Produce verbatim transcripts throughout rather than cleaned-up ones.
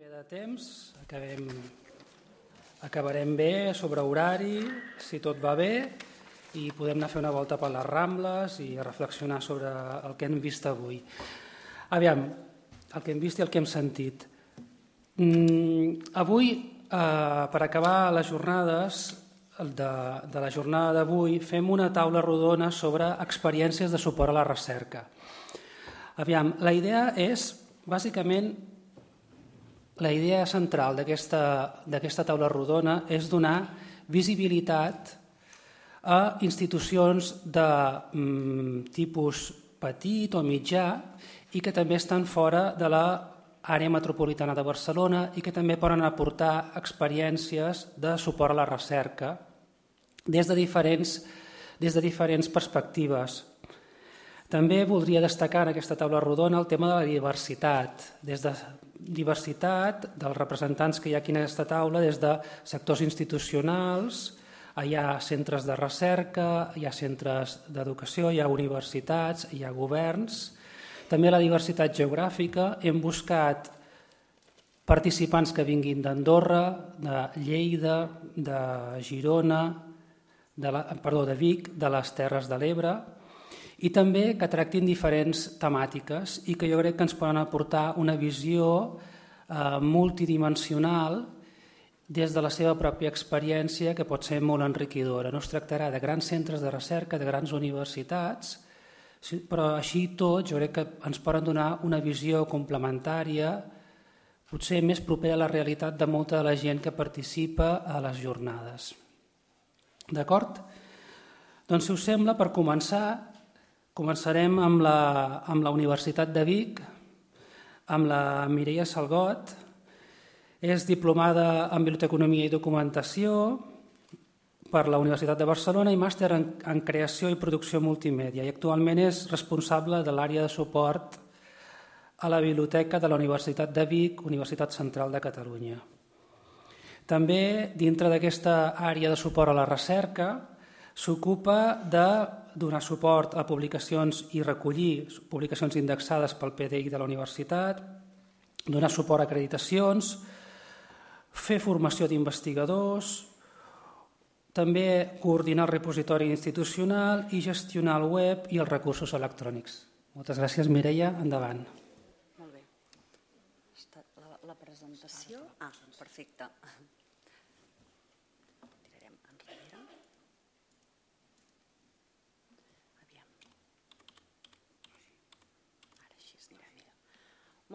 De temps, acabem, acabarem bé sobre horari, si tot va bé, i podem anar a fer una volta per les Rambles i reflexionar sobre el que hem vist avui. Aviam, el que hem vist i el que hem sentit. Mm, avui, eh, per acabar les jornades de, de la jornada d'avui, fem una taula rodona sobre experiències de suport a la recerca. Aviam, la idea és, bàsicament, la idea central d'aquesta taula rodona és donar visibilitat a institucions de mm, tipus petit o mitjà i que també estan fora de l'àrea metropolitana de Barcelona i que també poden aportar experiències de suport a la recerca des de diferents, des de diferents perspectives. També voldria destacar en aquesta taula rodona el tema de la diversitat, des de diversitat dels representants que hi ha aquí en aquesta taula, des de sectors institucionals, hi ha centres de recerca, hi ha centres d'educació, hi ha universitats, hi ha governs, també la diversitat geogràfica. Hem buscat participants que vinguin d'Andorra, de Lleida, de Girona, de, la, perdó, de Vic, de les Terres de l'Ebre, i també que tractin diferents temàtiques i que jo crec que ens poden aportar una visió eh, multidimensional des de la seva pròpia experiència, que pot ser molt enriquidora. No es tractarà de grans centres de recerca, de grans universitats, però així tot jo crec que ens poden donar una visió complementària, potser més propera a la realitat de molta de la gent que participa a les jornades. D'acord? Doncs, si us sembla, per començar, començarem amb la, amb la Universitat de Vic, amb la Mireia Salgot. És diplomada en Biblioteconomia i Documentació per la Universitat de Barcelona i màster en, en Creació i Producció Multimèdia, i actualment és responsable de l'àrea de suport a la Biblioteca de la Universitat de Vic, Universitat Central de Catalunya. També, dintre d'aquesta àrea de suport a la recerca, s'ocupa de donar suport a publicacions i recollir publicacions indexades pel P D I de la universitat, donar suport a acreditacions, fer formació d'investigadors, també coordinar el repositori institucional i gestionar el web i els recursos electrònics. Moltes gràcies, Mireia. Endavant. Molt bé. La, la presentació... Ah, perfecte. Tirarem enrere. Aviam. Ara així es dirà millor.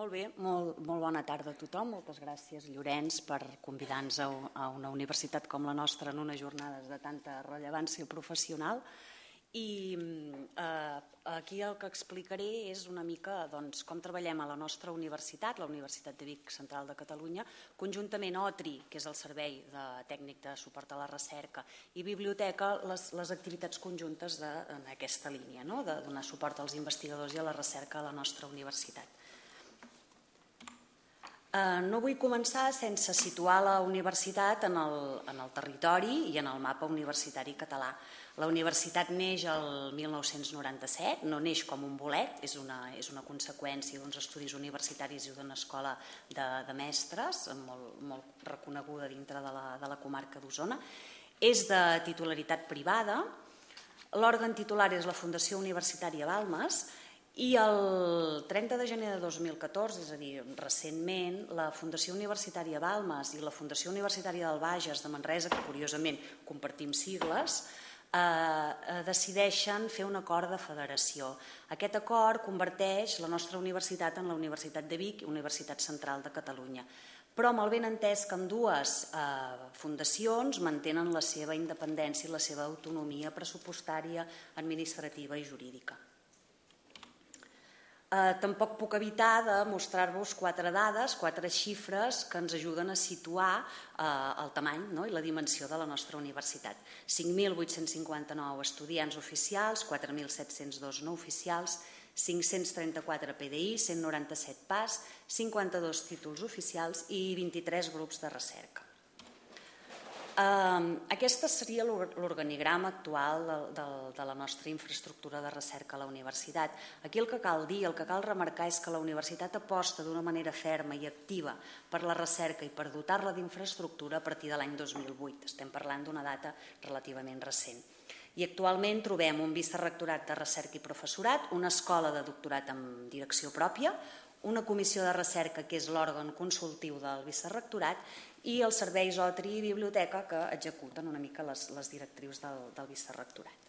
Molt bé, molt, molt bona tarda a tothom. Moltes gràcies, Llorenç, per convidar-nos a, a una universitat com la nostra en unes jornades de tanta rellevància professional. I eh, aquí el que explicaré és una mica doncs, com treballem a la nostra universitat, la Universitat de Vic Central de Catalunya, conjuntament O T R I, que és el Servei de Tècnic de Suport a la Recerca, i Biblioteca, les, les activitats conjuntes de, en aquesta línia, no? De donar suport als investigadors i a la recerca a la nostra universitat. Eh, no vull començar sense situar la universitat en el, en el territori i en el mapa universitari català. La universitat neix el mil nou-cents noranta-set, no neix com un bolet, és una, és una conseqüència d'uns estudis universitaris i d'una escola de, de mestres molt, molt reconeguda dintre de la, de la comarca d'Osona. És de titularitat privada, l'òrgan titular és la Fundació Universitària Balmes, i el trenta de gener de dos mil catorze, és a dir, recentment, la Fundació Universitària Balmes i la Fundació Universitària del Bages de Manresa, que curiosament compartim sigles, eh, decideixen fer un acord de federació. Aquest acord converteix la nostra universitat en la Universitat de Vic i Universitat Central de Catalunya, però amb el benentès que ambdues eh, fundacions mantenen la seva independència i la seva autonomia pressupostària, administrativa i jurídica. Eh, tampoc puc evitar de mostrar-vos quatre dades, quatre xifres que ens ajuden a situar eh, el tamany, no? I la dimensió de la nostra universitat. cinc mil vuit-cents cinquanta-nou estudiants oficials, quatre mil set-cents dos no oficials, cinc-cents trenta-quatre P D I, cent noranta-set P A S, cinquanta-dos títols oficials i vint-i-tres grups de recerca. Aquest seria l'organigrama actual de la nostra infraestructura de recerca a la universitat. Aquí el que cal dir, el que cal remarcar és que la universitat aposta d'una manera ferma i activa per la recerca i per dotar-la d'infraestructura a partir de l'any dos mil vuit. Estem parlant d'una data relativament recent. I actualment trobem un vicerrectorat de recerca i professorat, una escola de doctorat amb direcció pròpia, una comissió de recerca que és l'òrgan consultiu del vicerrectorat i els serveis O T R I i biblioteca que executen una mica les, les directrius del, del vicerrectorat.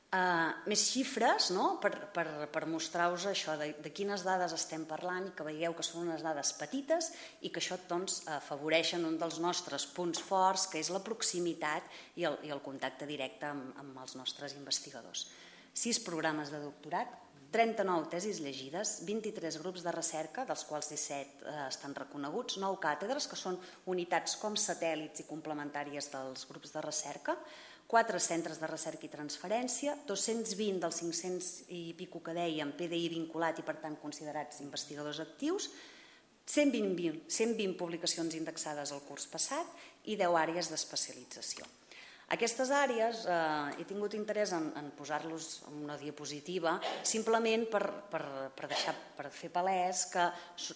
Uh, més xifres, no? per, per, per mostrar-vos això de, de quines dades estem parlant i que veieu que són unes dades petites i que això doncs, afavoreixen un dels nostres punts forts, que és la proximitat i el, i el contacte directe amb, amb els nostres investigadors. Sis programes de doctorat, trenta-nou tesis llegides, vint-i-tres grups de recerca, dels quals disset eh, estan reconeguts, nou càtedres, que són unitats com satèl·lits i complementàries dels grups de recerca, quatre centres de recerca i transferència, dos-cents vint dels cinc-cents i pico que dèiem P D I vinculat i per tant considerats investigadors actius, cent vint publicacions indexades el curs passat i deu àrees d'especialització. Aquestes àrees, eh, he tingut interès en, en posar-los en una diapositiva simplement per, per, per, deixar, per fer palès que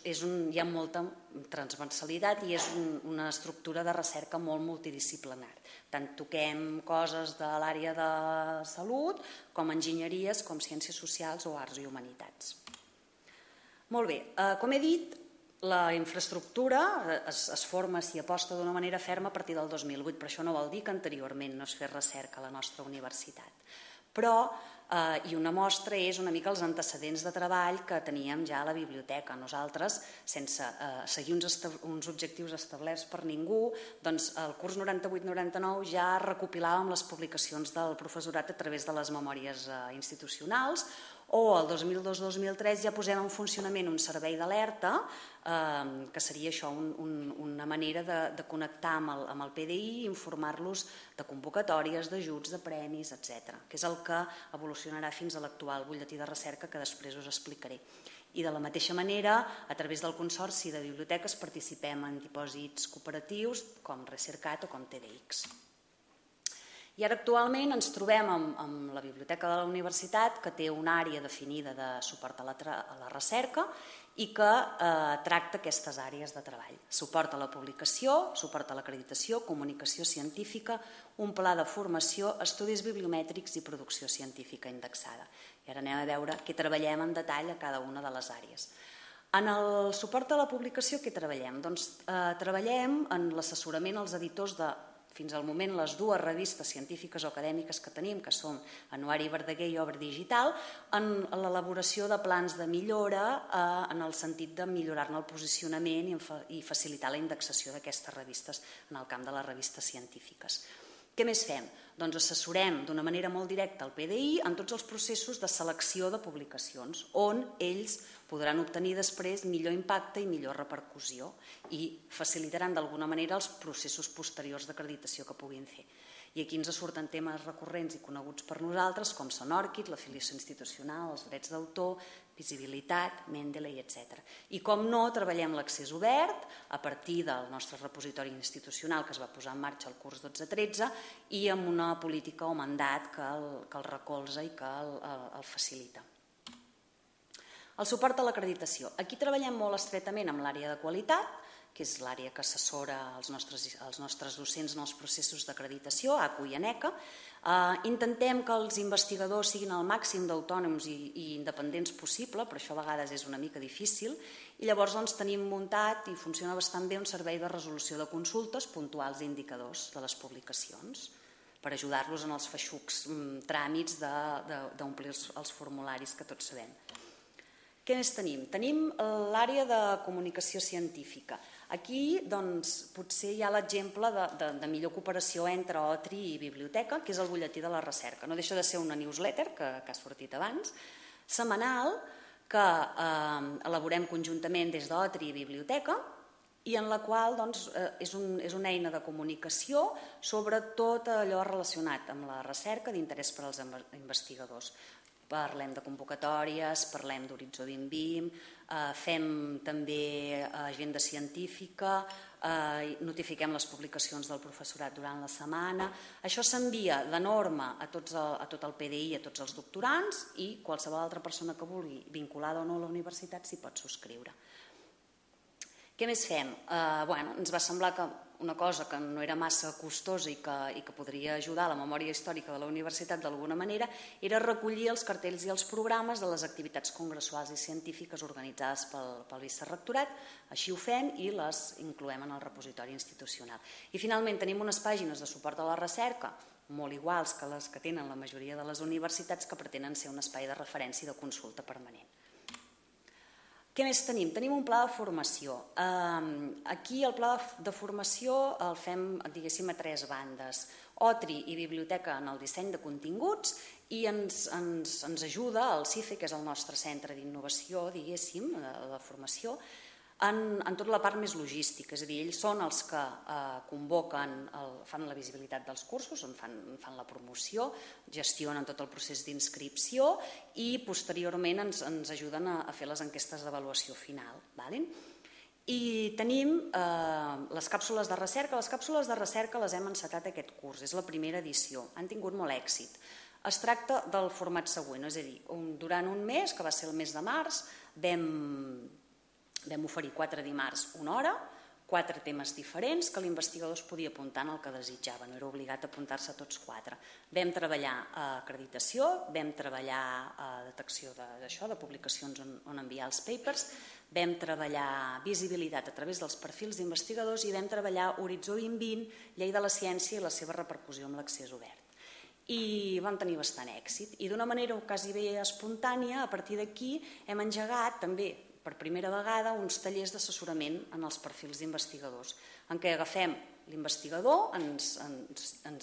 és un, hi ha molta transversalitat i és un, una estructura de recerca molt multidisciplinar. Tant toquem coses de l'àrea de salut com enginyeries, com ciències socials o arts i humanitats. Molt bé, eh, com he dit, la infraestructura es, es forma, s'hi aposta d'una manera ferma a partir del dos mil vuit, però això no vol dir que anteriorment no es fes recerca a la nostra universitat. Però, eh, i una mostra és una mica els antecedents de treball que teníem ja a la biblioteca. Nosaltres, sense eh, seguir uns, uns objectius establerts per ningú, doncs el curs noranta-vuit noranta-nou ja recopilàvem les publicacions del professorat a través de les memòries eh, institucionals, o el dos mil dos dos mil tres ja posem en funcionament un servei d'alerta, eh, que seria això, un, un, una manera de, de connectar amb el, amb el P D I i informar-los de convocatòries, d'ajuts, de premis, etcètera, que és el que evolucionarà fins a l'actual butlletí de recerca que després us explicaré. I de la mateixa manera, a través del Consorci de Biblioteques participem en dipòsits cooperatius com Recercat o com T D X. I ara actualment ens trobem amb, amb la Biblioteca de la Universitat, que té una àrea definida de suport a la, a la recerca i que eh, tracta aquestes àrees de treball. Suport a la publicació, suport a l'acreditació, comunicació científica, un pla de formació, estudis bibliomètrics i producció científica indexada. I ara anem a veure què treballem en detall a cada una de les àrees. En el suport a la publicació, què treballem? Doncs eh, treballem en l'assessorament als editors de fins al moment les dues revistes científiques o acadèmiques que tenim, que són Anuari Verdaguer i Obra Digital, en l'elaboració de plans de millora eh, en el sentit de millorar-ne el posicionament i, i facilitar la indexació d'aquestes revistes en el camp de les revistes científiques. Què més fem? Doncs assessorem d'una manera molt directa el P D I en tots els processos de selecció de publicacions, on ells podran obtenir després millor impacte i millor repercussió i facilitaran d'alguna manera els processos posteriors d'acreditació que puguin fer. I aquí ens surten temes recurrents i coneguts per nosaltres, com són ORCID, l'afiliació institucional, els drets d'autor, visibilitat, Mendeley, etcètera. I com no, treballem l'accés obert a partir del nostre repositori institucional que es va posar en marxa el curs dotze tretze i amb una política o mandat que el, que el recolza i que el, el, el facilita. El suport a l'acreditació. Aquí treballem molt estretament amb l'àrea de qualitat, que és l'àrea que assessora els nostres, els nostres docents en els processos d'acreditació, A C U i ANECA. Eh, intentem que els investigadors siguin el màxim d'autònoms i, i independents possible, però això a vegades és una mica difícil, i llavors doncs, tenim muntat i funciona bastant bé un servei de resolució de consultes puntuals i indicadors de les publicacions per ajudar-los en els feixucs tràmits d'omplir els, els formularis que tots sabem. Què més tenim? Tenim l'àrea de comunicació científica. Aquí doncs, potser hi ha l'exemple de, de, de millor cooperació entre O T R I i biblioteca, que és el butlletí de la recerca. No deixa de ser una newsletter, que, que ha sortit abans, setmanal, que eh, elaborem conjuntament des d'O T R I i biblioteca, i en la qual doncs, eh, és, un, és una eina de comunicació sobre tot allò relacionat amb la recerca d'interès per als investigadors. parlem de convocatòries, parlem d'Horitzó vint vint, fem també agenda científica, notifiquem les publicacions del professorat durant la setmana. Això s'envia de norma a tot el P D I, a tots els doctorants, i qualsevol altra persona que vulgui, vinculada o no a la universitat, s'hi pot subscriure. Què més fem? Ens va semblar que una cosa que no era massa costosa i que podria ajudar a la memòria històrica de la universitat d'alguna manera era recollir els cartells i els programes de les activitats congressuals i científiques organitzades pel vicerrectorat. Així ho fem i les incloem en el repositori institucional. I finalment tenim unes pàgines de suport a la recerca molt iguals que les que tenen la majoria de les universitats, que pretenen ser un espai de referència i de consulta permanent. Què més tenim? Tenim un pla de formació. Aquí el pla de formació el fem, diguéssim, a tres bandes. O T R I i biblioteca en el disseny de continguts, i ens ajuda el CIFE, que és el nostre centre d'innovació, diguéssim, de formació, en tota la part més logística. És a dir, ells són els que convoquen, fan la visibilitat dels cursos, fan la promoció, gestionen tot el procés d'inscripció i posteriorment ens ajuden a fer les enquestes d'avaluació final. I tenim les càpsules de recerca. Les càpsules de recerca les hem encetat aquest curs, és la primera edició. Han tingut molt èxit. Es tracta del format següent, és a dir, durant un mes, que va ser el mes de març, vam Vam oferir quatre dimarts una hora, quatre temes diferents que l'investigador es podia apuntar en el que desitjava, no era obligat a apuntar-se a tots quatre. Vam treballar acreditació, vam treballar detecció d'això, de publicacions on enviar els papers, vam treballar visibilitat a través dels perfils d'investigadors i vam treballar Horitzó vint vint, llei de la ciència i la seva repercussió amb l'accés obert. I vam tenir bastant èxit. I d'una manera quasi bé espontània, a partir d'aquí hem engegat també per primera vegada uns tallers d'assessorament en els perfils d'investigadors, en què agafem l'investigador, ens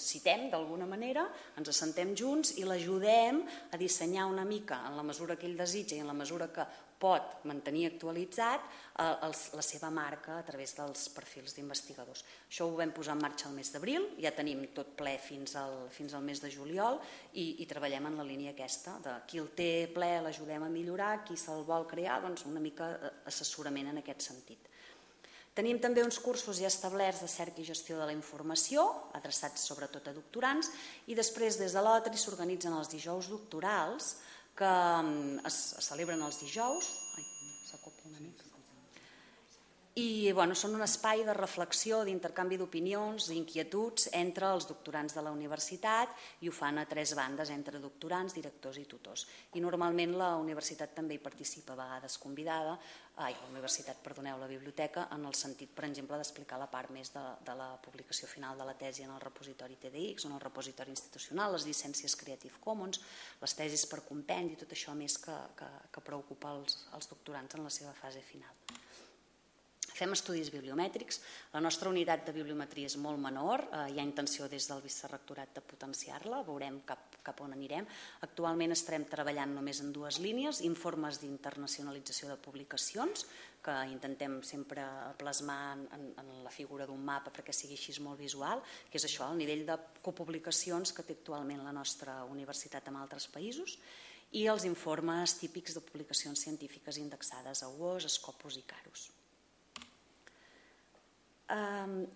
citem d'alguna manera, ens assentem junts i l'ajudem a dissenyar una mica, en la mesura que ell desitja i en la mesura que pot mantenir actualitzat, la seva marca a través dels perfils d'investigadors. Això ho vam posar en marxa el mes d'abril, ja tenim tot ple fins al mes de juliol i treballem en la línia aquesta, de qui el té ple l'ajudem a millorar, qui se'l vol crear, doncs una mica assessorament en aquest sentit. Tenim també uns cursos ja establerts de cerca i gestió de la informació, adreçats sobretot a doctorants, i després des de l'O T R I s'organitzen els dijous doctorals, que es celebren els dijous, i són un espai de reflexió, d'intercanvi d'opinions, d'inquietuds entre els doctorants de la universitat, i ho fan a tres bandes, entre doctorants, directors i tutors. I normalment la universitat també hi participa, a vegades convidada, ai, la universitat, perdoneu, la biblioteca, en el sentit, per exemple, d'explicar la part més de la publicació final de la tesi en el repositori T D X, en el repositori institucional, les llicències Creative Commons, les tesis per compendi, tot això més que preocupa els doctorants en la seva fase final. Fem estudis bibliomètrics. La nostra unitat de bibliometria és molt menor, hi ha intenció des del vicerrectorat de potenciar-la, veurem cap on anirem. Actualment estarem treballant només en dues línies, informes d'internacionalització de publicacions, que intentem sempre plasmar en la figura d'un mapa perquè sigui així molt visual, que és això, el nivell de copublicacions que té actualment la nostra universitat en altres països, i els informes típics de publicacions científiques indexades a U O S, Scopus i Carus.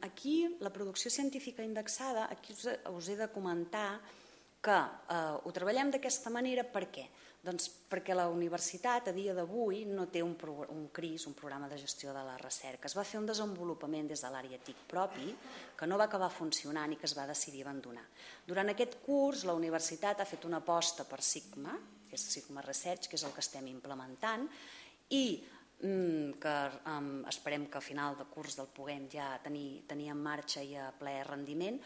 Aquí, la producció científica indexada, aquí us he de comentar que ho treballem d'aquesta manera. Per què? Doncs perquè la universitat a dia d'avui no té un C R I S, un programa de gestió de la recerca. Es va fer un desenvolupament des de l'àrea T I C propi que no va acabar funcionant i que es va decidir abandonar. Durant aquest curs la universitat ha fet una aposta per Sigma, que és Sigma Research, que és el que estem implementant, i que esperem que a final de curs el puguem ja tenir en marxa i a ple rendiment,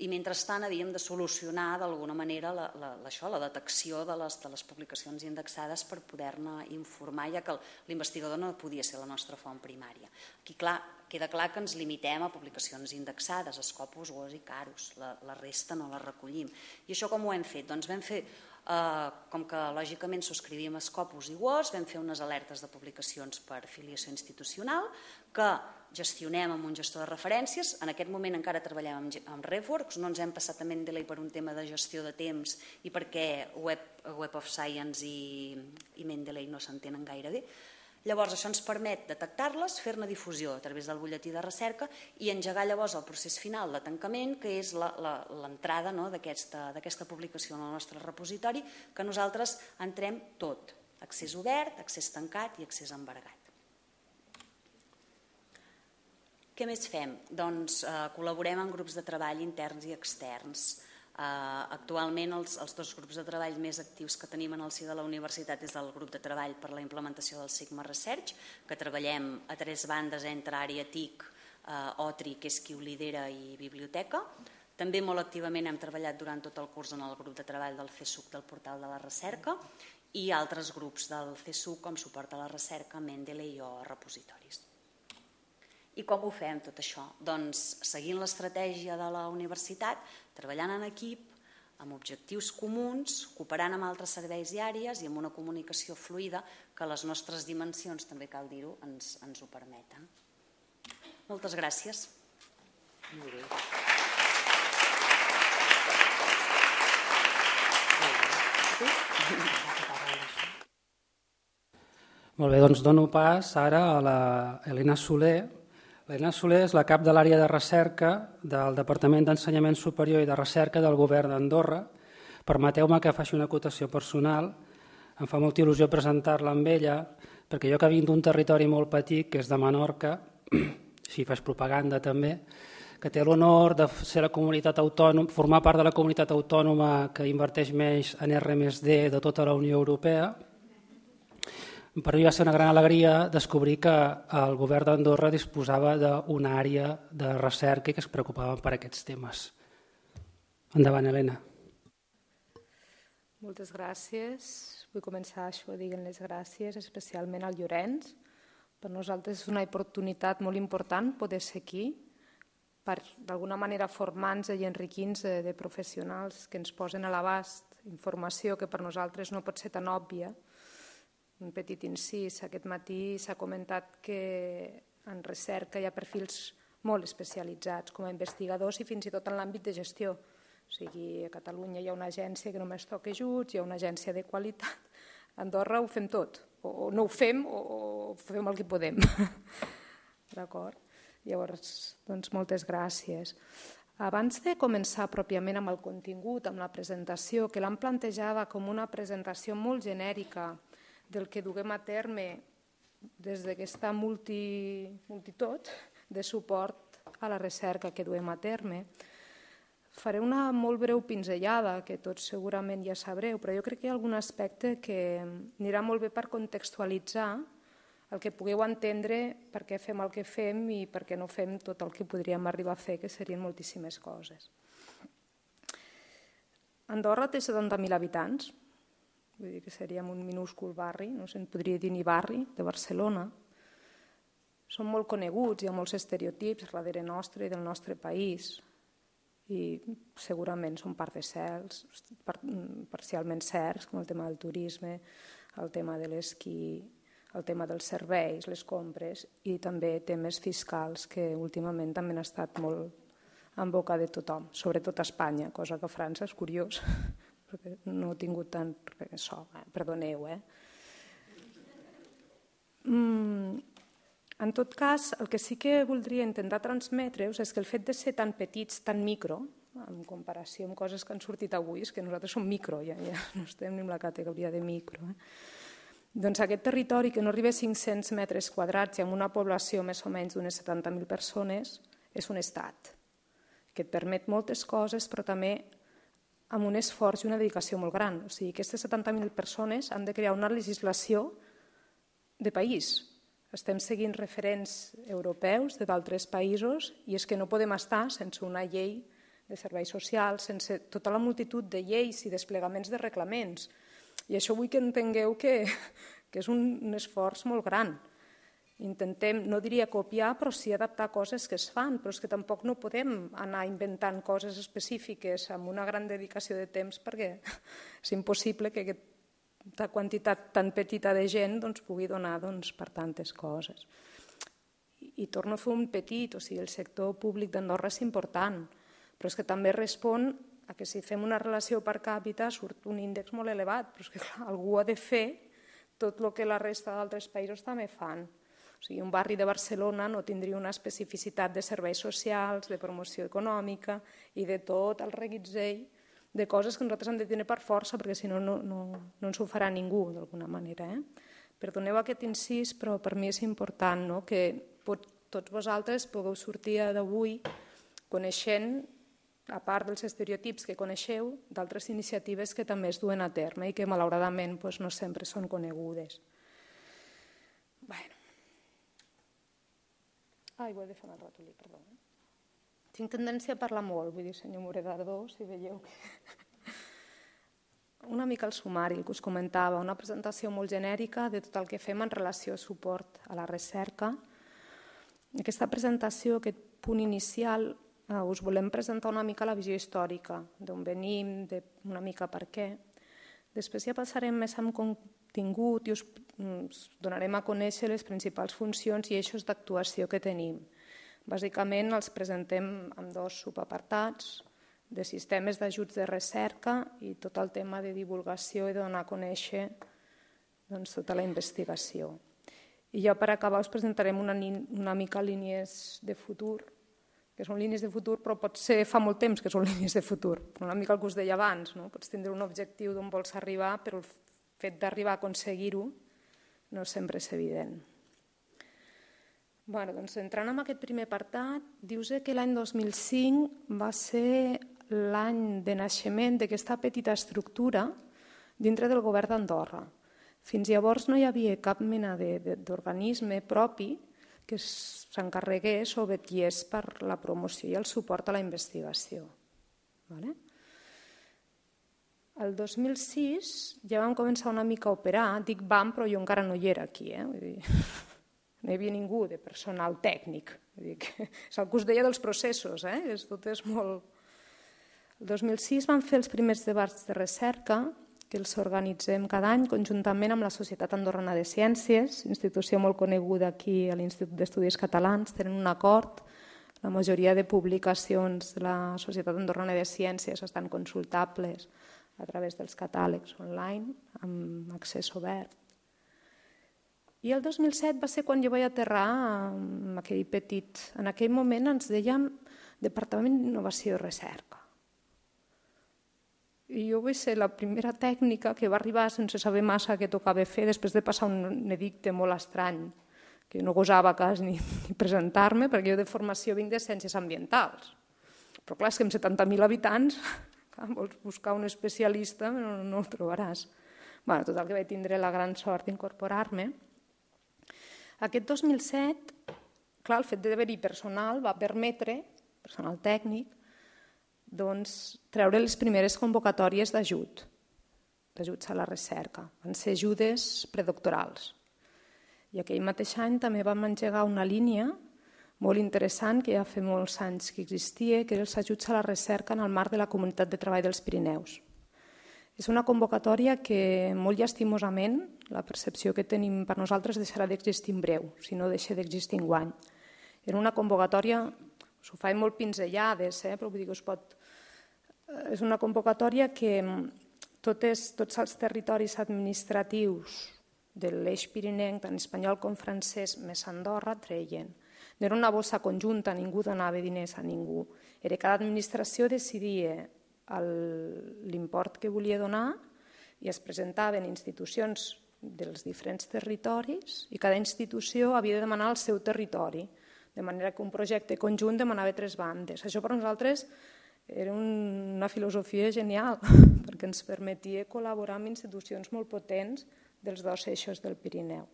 i mentrestant havíem de solucionar d'alguna manera la detecció de les publicacions indexades per poder-ne informar, ja que l'investigador no podia ser la nostra font primària. Aquí, clar, queda clar que ens limitem a publicacions indexades, Scopus, U O S i Carus, la, la resta no la recollim. I això com ho hem fet? Doncs vam fer, eh, com que lògicament subscrivim a Scopus i U O S, vam fer unes alertes de publicacions per filiació institucional que gestionem amb un gestor de referències. En aquest moment encara treballem amb, amb RefWorks, no ens hem passat a Mendeley per un tema de gestió de temps i perquè Web, Web of Science i, i Mendeley no s'entenen gaire bé. Llavors això ens permet detectar-les, fer-ne difusió a través del butlletí de recerca i engegar llavors el procés final de tancament, que és l'entrada no, d'aquesta publicació en el nostre repositori, que nosaltres entrem tot, accés obert, accés tancat i accés embargat. Què més fem? Doncs eh, col·laborem en grups de treball interns i externs. Uh, actualment els, els dos grups de treball més actius que tenim en el si de la universitat és el grup de treball per la implementació del Sigma Research, que treballem a tres bandes entre àrea T I C, uh, O T R I, que és qui ho lidera, i biblioteca. També molt activament hem treballat durant tot el curs en el grup de treball del C S U C del portal de la recerca i altres grups del C S U C com suport a la recerca, Mendeley o repositoris. I com ho fem tot això? Doncs seguint l'estratègia de la universitat, treballant en equip, amb objectius comuns, cooperant amb altres serveis i àrees i amb una comunicació fluida que les nostres dimensions, també cal dir-ho, ens, ens ho permeten. Moltes gràcies. Molt bé. Molt bé, doncs dono pas ara a la Helena Soler. L'Helena Soler és la cap de l'àrea de recerca del Departament d'Ensenyament Superior i de Recerca del Govern d'Andorra. Permeteu-me que faci una acotació personal. Em fa molta il·lusió presentar-la amb ella, perquè jo que vinc d'un territori molt petit, que és de Menorca, si faig propaganda també, que té l'honor de ser la comunitat autònoma, formar part de la comunitat autònoma que inverteix més en R més D de tota la Unió Europea. Per mi va ser una gran alegria descobrir que el govern d'Andorra disposava d'una àrea de recerca i que es preocupaven per aquests temes. Endavant, Helena. Moltes gràcies. Vull començar això dient les gràcies especialment al Llorenç. Per nosaltres és una oportunitat molt important poder ser aquí per d'alguna manera formar-nos i enriquir-nos de professionals que ens posen a l'abast informació que per nosaltres no pot ser tan òbvia. Un petit incís, aquest matí s'ha comentat que en recerca hi ha perfils molt especialitzats com a investigadors i fins i tot en l'àmbit de gestió. O sigui, a Catalunya hi ha una agència que només toca ajuts, hi ha una agència de qualitat. A Andorra ho fem tot, o no ho fem o fem el que podem. D'acord? Llavors, doncs moltes gràcies. Abans de començar pròpiament amb el contingut, amb la presentació, que l'han plantejada com una presentació molt genèrica del que duguem a terme des d'aquesta multi, multitud de suport a la recerca que duem a terme. Faré una molt breu pinzellada, que tots segurament ja sabreu, però jo crec que hi ha algun aspecte que anirà molt bé per contextualitzar el que pugueu entendre per què fem el que fem i per què no fem tot el que podríem arribar a fer, que serien moltíssimes coses. Andorra té setanta mil habitants, vull dir que seríem un minúscul barri, no se'n podria dir ni barri, de Barcelona. Som molt coneguts, hi ha molts estereotips darrere nostre i del nostre país i segurament són part de certs, parcialment certs, com el tema del turisme, el tema de l'esquí, el tema dels serveis, les compres i també temes fiscals que últimament també han estat molt en boca de tothom, sobretot a Espanya, cosa que a França és curiós, perquè no he tingut tant so, eh? Perdoneu. Eh? Mm, en tot cas, el que sí que voldria intentar transmetre-us és que el fet de ser tan petits, tan micro, en comparació amb coses que han sortit avui, és que nosaltres som micro, ja, ja no estem ni en la categoria de micro. Eh? Doncs aquest territori, que no arriba a cinc-cents metres quadrats i amb una població més o menys d'unes setanta mil persones, és un estat que et permet moltes coses, però també amb un esforç i una dedicació molt gran. O sigui, aquestes setanta mil persones han de crear una legislació de país. Estem seguint referents europeus de d'altres països i és que no podem estar sense una llei de serveis socials, sense tota la multitud de lleis i desplegaments de reglaments. I això vull que entengueu que, que és un, un esforç molt gran. Intentem, no diria copiar, però sí adaptar coses que es fan, però és que tampoc no podem anar inventant coses específiques amb una gran dedicació de temps perquè és impossible que aquesta quantitat tan petita de gent doncs, pugui donar doncs, per tantes coses. I, I torno a fer un petit, o sigui, el sector públic d'Andorra és important, però és que també respon a que si fem una relació per càpita surt un índex molt elevat, però és que clar, algú ha de fer tot el que la resta d'altres països també fan. O sigui, un barri de Barcelona no tindria una especificitat de serveis socials, de promoció econòmica i de tot el reguitzell de coses que nosaltres hem de tenir per força, perquè si no, no, no, no ens ho farà ningú, d'alguna manera. Eh? Perdoneu aquest incís, però per mi és important no? que pot, tots vosaltres pugueu sortir d'avui coneixent, a part dels estereotips que coneixeu, d'altres iniciatives que també es duen a terme i que malauradament doncs, no sempre són conegudes. Bueno. Ai, ho he de fer el ratolí, perdó. Tinc tendència a parlar molt, vull dir, senyor Moredardó, si veieu que... Una mica el sumari, el que us comentava, una presentació molt genèrica de tot el que fem en relació a suport a la recerca. Aquesta presentació, aquest punt inicial, eh, us volem presentar una mica la visió històrica, d'on venim, de una mica per què. Després ja passarem més amb contingut i us donarem a conèixer les principals funcions i eixos d'actuació que tenim. Bàsicament els presentem amb dos subapartats de sistemes d'ajuts de recerca i tot el tema de divulgació i de donar a conèixer doncs, tota la investigació. I ja per acabar us presentarem una, una mica línies de futur, que són línies de futur, però potser fa molt temps que són línies de futur. Una mica el que us deia abans, no? Pots tindre un objectiu d'on vols arribar, però el fet d'arribar a aconseguir-ho no sempre és evident. Bueno, doncs, entrant en aquest primer apartat, dius que l'any dos mil cinc va ser l'any de naixement d'aquesta petita estructura dintre del govern d'Andorra. Fins llavors no hi havia cap mena d'organisme propi que s'encarregués o vetllés per la promoció i el suport a la investigació. Vale? El dos mil sis ja vam començar una mica a operar, dic vam, però jo encara no hi era aquí, eh? Vull dir, no hi havia ningú de personal tècnic. Vull dir que és el que us deia dels processos, eh? És, tot és molt... El dos mil sis vam fer els primers debats de recerca, que els organitzem cada any conjuntament amb la Societat Andorrana de Ciències, institució molt coneguda aquí a l'Institut d'Estudis Catalans, tenen un acord. La majoria de publicacions de la Societat Andorrana de Ciències estan consultables a través dels catàlegs online, amb accés obert. I el dos mil set va ser quan jo vaig aterrar en aquell petit... En aquell moment ens dèiem Departament d'Innovació i Recerca. I jo vaig ser la primera tècnica que va arribar sense saber massa què tocava fer, després de passar un edicte molt estrany, que no gosava quasi ni, ni presentar-me, perquè jo de formació vinc de ciències ambientals. Però clar, és que amb setanta mil habitants... vols buscar un especialista, però no el trobaràs. Bé, total, que vaig tindre la gran sort d'incorporar-me. Aquest dos mil set, clar, el fet d'haver-hi personal va permetre, personal tècnic, doncs, treure les primeres convocatòries d'ajut, d'ajuts a la recerca. Van ser ajudes predoctorals. I aquell mateix any també vam engegar una línia molt interessant, que ja fa molts anys que existia, que era els ajuts a la recerca en el marc de la Comunitat de Treball dels Pirineus. És una convocatòria que, molt llastimosament, la percepció que tenim per nosaltres deixarà d'existir en breu, si no deixa d'existir enguany. Era una convocatòria, us ho faig molt pinzellades, eh? Però vull dir que us pot... És una convocatòria que totes, tots els territoris administratius de l'eix pirinenc, tant espanyol com francès, més Andorra, treien. No era una bossa conjunta, ningú donava diners a ningú. Era cada administració decidia l'import que volia donar i es presentaven institucions dels diferents territoris i cada institució havia de demanar el seu territori, de manera que un projecte conjunt demanava tres bandes. Això per nosaltres era una filosofia genial, perquè ens permetia col·laborar amb institucions molt potents dels dos eixos del Pirineu.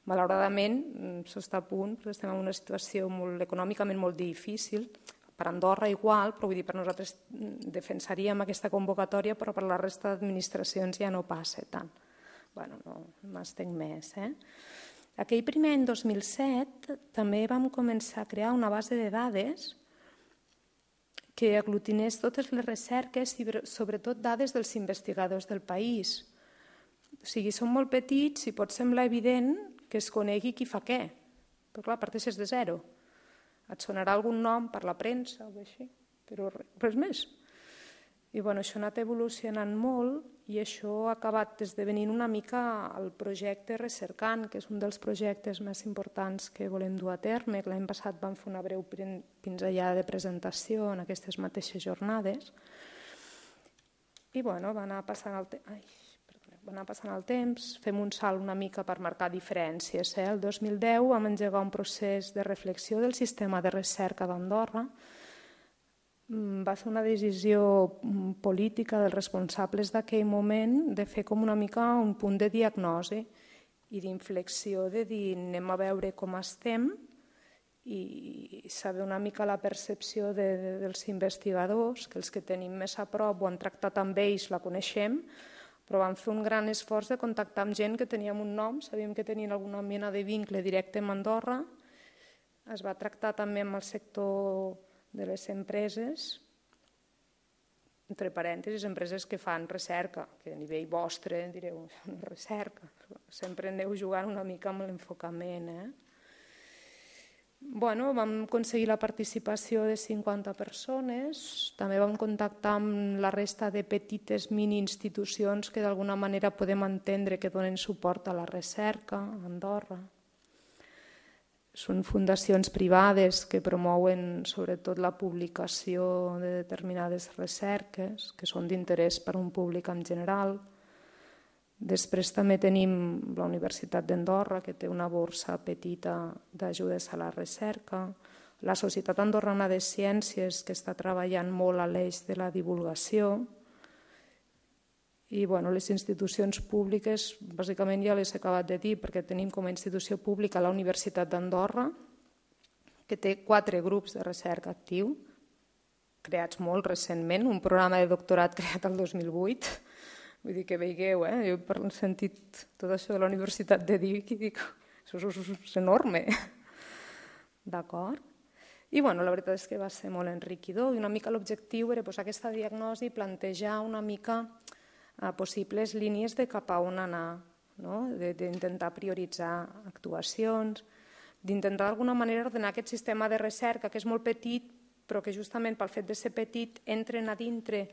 Malauradament, s'està a punt, perquè estem en una situació molt, econòmicament molt difícil, per Andorra igual, però vull dir, per nosaltres defensaríem aquesta convocatòria, però per la resta d'administracions ja no passa tant. Bueno, no m'estenc més. Eh? Aquell primer any dos mil set també vam començar a crear una base de dades que aglutinés totes les recerques i sobretot dades dels investigadors del país. O sigui, són molt petits i pot semblar evident que es conegui qui fa què, però clar, parteixes de zero. Et sonarà algun nom per la premsa o així, però res més. I bueno, això ha anat evolucionant molt i això ha acabat esdevenint una mica el projecte Recercant, que és un dels projectes més importants que volem dur a terme. L'any passat vam fer una breu pinzellada de presentació en aquestes mateixes jornades. I bueno, va anar passant el temps. Ai, va anar passant el temps, fem un salt una mica per marcar diferències. El dos mil deu vam engegar un procés de reflexió del sistema de recerca d'Andorra. Va ser una decisió política dels responsables d'aquell moment de fer com una mica un punt de diagnosi i d'inflexió, de dir anem a veure com estem i saber una mica la percepció dels investigadors, que els que tenim més a prop o han tractat amb ells la coneixem, però vam fer un gran esforç de contactar amb gent que teníem un nom, sabíem que tenien alguna mena de vincle directe amb Andorra. Es va tractar també amb el sector de les empreses, entre parèntesis, empreses que fan recerca, que a nivell vostre direu, recerca, sempre aneu jugant una mica amb l'enfocament. Eh? Bueno, vam aconseguir la participació de cinquanta persones, també vam contactar amb la resta de petites mini-institucions que d'alguna manera podem entendre que donen suport a la recerca a Andorra. Són fundacions privades que promouen sobretot la publicació de determinades recerques que són d'interès per a un públic en general. Després també tenim la Universitat d'Andorra, que té una borsa petita d'ajudes a la recerca, la Societat Andorrana de Ciències, que està treballant molt a l'eix de la divulgació, i bueno, les institucions públiques, bàsicament ja les he acabat de dir, perquè tenim com a institució pública la Universitat d'Andorra, que té quatre grups de recerca actiu, creats molt recentment, un programa de doctorat creat el dos mil vuit, vull dir que veieu, eh? Jo he sentit tot això de la Universitat de Vic i dic, això és enorme. D'acord? I bueno, la veritat és que va ser molt enriquidor i una mica l'objectiu era posar aquesta diagnosi i plantejar una mica possibles línies de cap a on anar, d'intentar prioritzar actuacions, d'intentar d'alguna manera ordenar aquest sistema de recerca que és molt petit però que justament pel fet de ser petit entren a dintre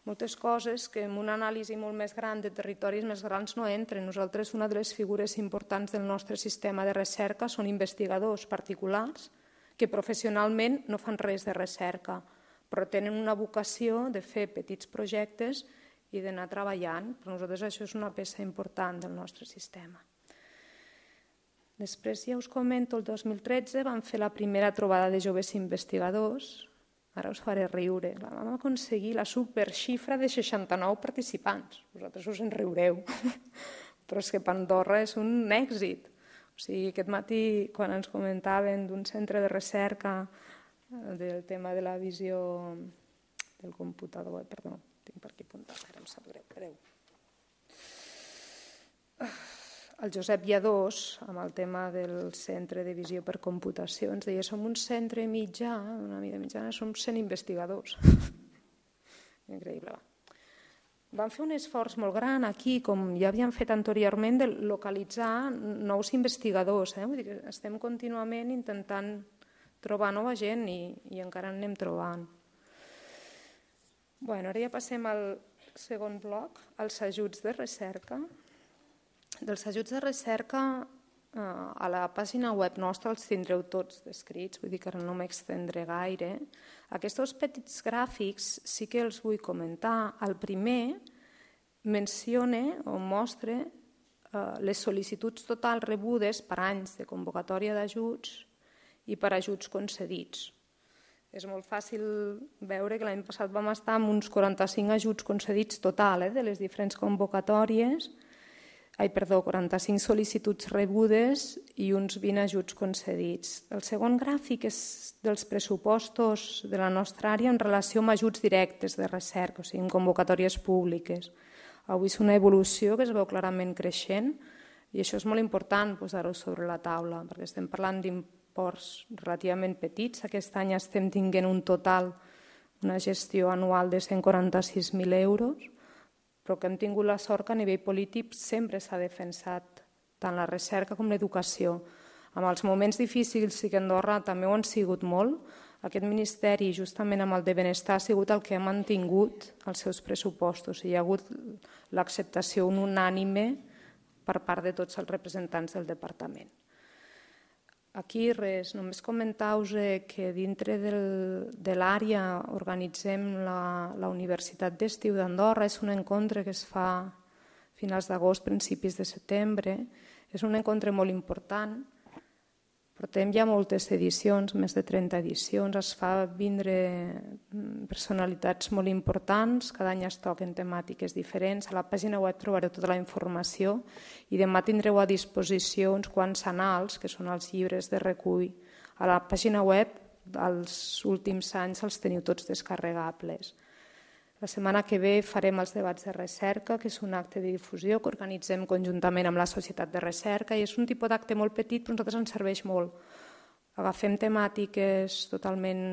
moltes coses que en una anàlisi molt més gran de territoris més grans no entren. Nosaltres una de les figures importants del nostre sistema de recerca són investigadors particulars que professionalment no fan res de recerca, però tenen una vocació de fer petits projectes i d'anar treballant. Per nosaltres això és una peça important del nostre sistema. Després ja us comento, el dos mil tretze vam fer la primera trobada de joves investigadors. Ara us faré riure. Vam aconseguir la superxifra de seixanta-nou participants. Vosaltres us en riureu, però és que per Andorra és un èxit. O sigui, aquest matí, quan ens comentaven d'un centre de recerca del tema de la visió del computador, perdó, tinc per aquí apuntat, ara em sap greu, greu. El Josep Lladós, amb el tema del centre de visió per computació, ens deia som un centre mitjà, una mida mitjana, som cent investigadors. Increïble. Vam fer un esforç molt gran aquí, com ja havíem fet anteriorment, de localitzar nous investigadors. Vull dir que estem contínuament intentant trobar nova gent i encara en anem trobant. Ara ja passem al segon bloc, als ajuts de recerca. Dels ajuts de recerca a la pàgina web nostra els tindreu tots descrits, vull dir que ara no m'extendré gaire. Aquests petits gràfics sí que els vull comentar. El primer menciona o mostra les sol·licituds totals rebudes per anys de convocatòria d'ajuts i per ajuts concedits. És molt fàcil veure que l'any passat vam estar amb uns quaranta-cinc ajuts concedits total de les diferents convocatòries, Ai, perdó, quaranta-cinc sol·licituds rebudes i uns vint ajuts concedits. El segon gràfic és dels pressupostos de la nostra àrea en relació amb ajuts directes de recerca, o sigui, en convocatòries públiques. Avui és una evolució que es veu clarament creixent. I això és molt important posar-ho sobre la taula, perquè estem parlant d'imports relativament petits. Aquest any estem tinguent un total, una gestió anual de cent quaranta-sis mil euros, però que hem tingut la sort que a nivell polític sempre s'ha defensat tant la recerca com l'educació. En els moments difícils, i que Andorra també ho han sigut molt, aquest ministeri, justament amb el de benestar, ha sigut el que ha mantingut els seus pressupostos. Hi ha hagut l'acceptació unànime per part de tots els representants del departament. Aquí res, només comentar-vos que dintre de l'àrea organitzem la Universitat d'Estiu d'Andorra. És un encontre que es fa a finals d'agost, principis de setembre. És un encontre molt important. Portem ja moltes edicions, més de trenta edicions, es fa vindre personalitats molt importants, cada any es toquen temàtiques diferents, a la pàgina web trobareu tota la informació i demà tindreu a disposició uns quants anals, que són els llibres de recull. A la pàgina web, els últims anys els teniu tots descarregables. La setmana que ve farem els debats de recerca, que és un acte de difusió que organitzem conjuntament amb la Societat de Recerca i és un tipus d'acte molt petit, però a nosaltres ens serveix molt. Agafem temàtiques totalment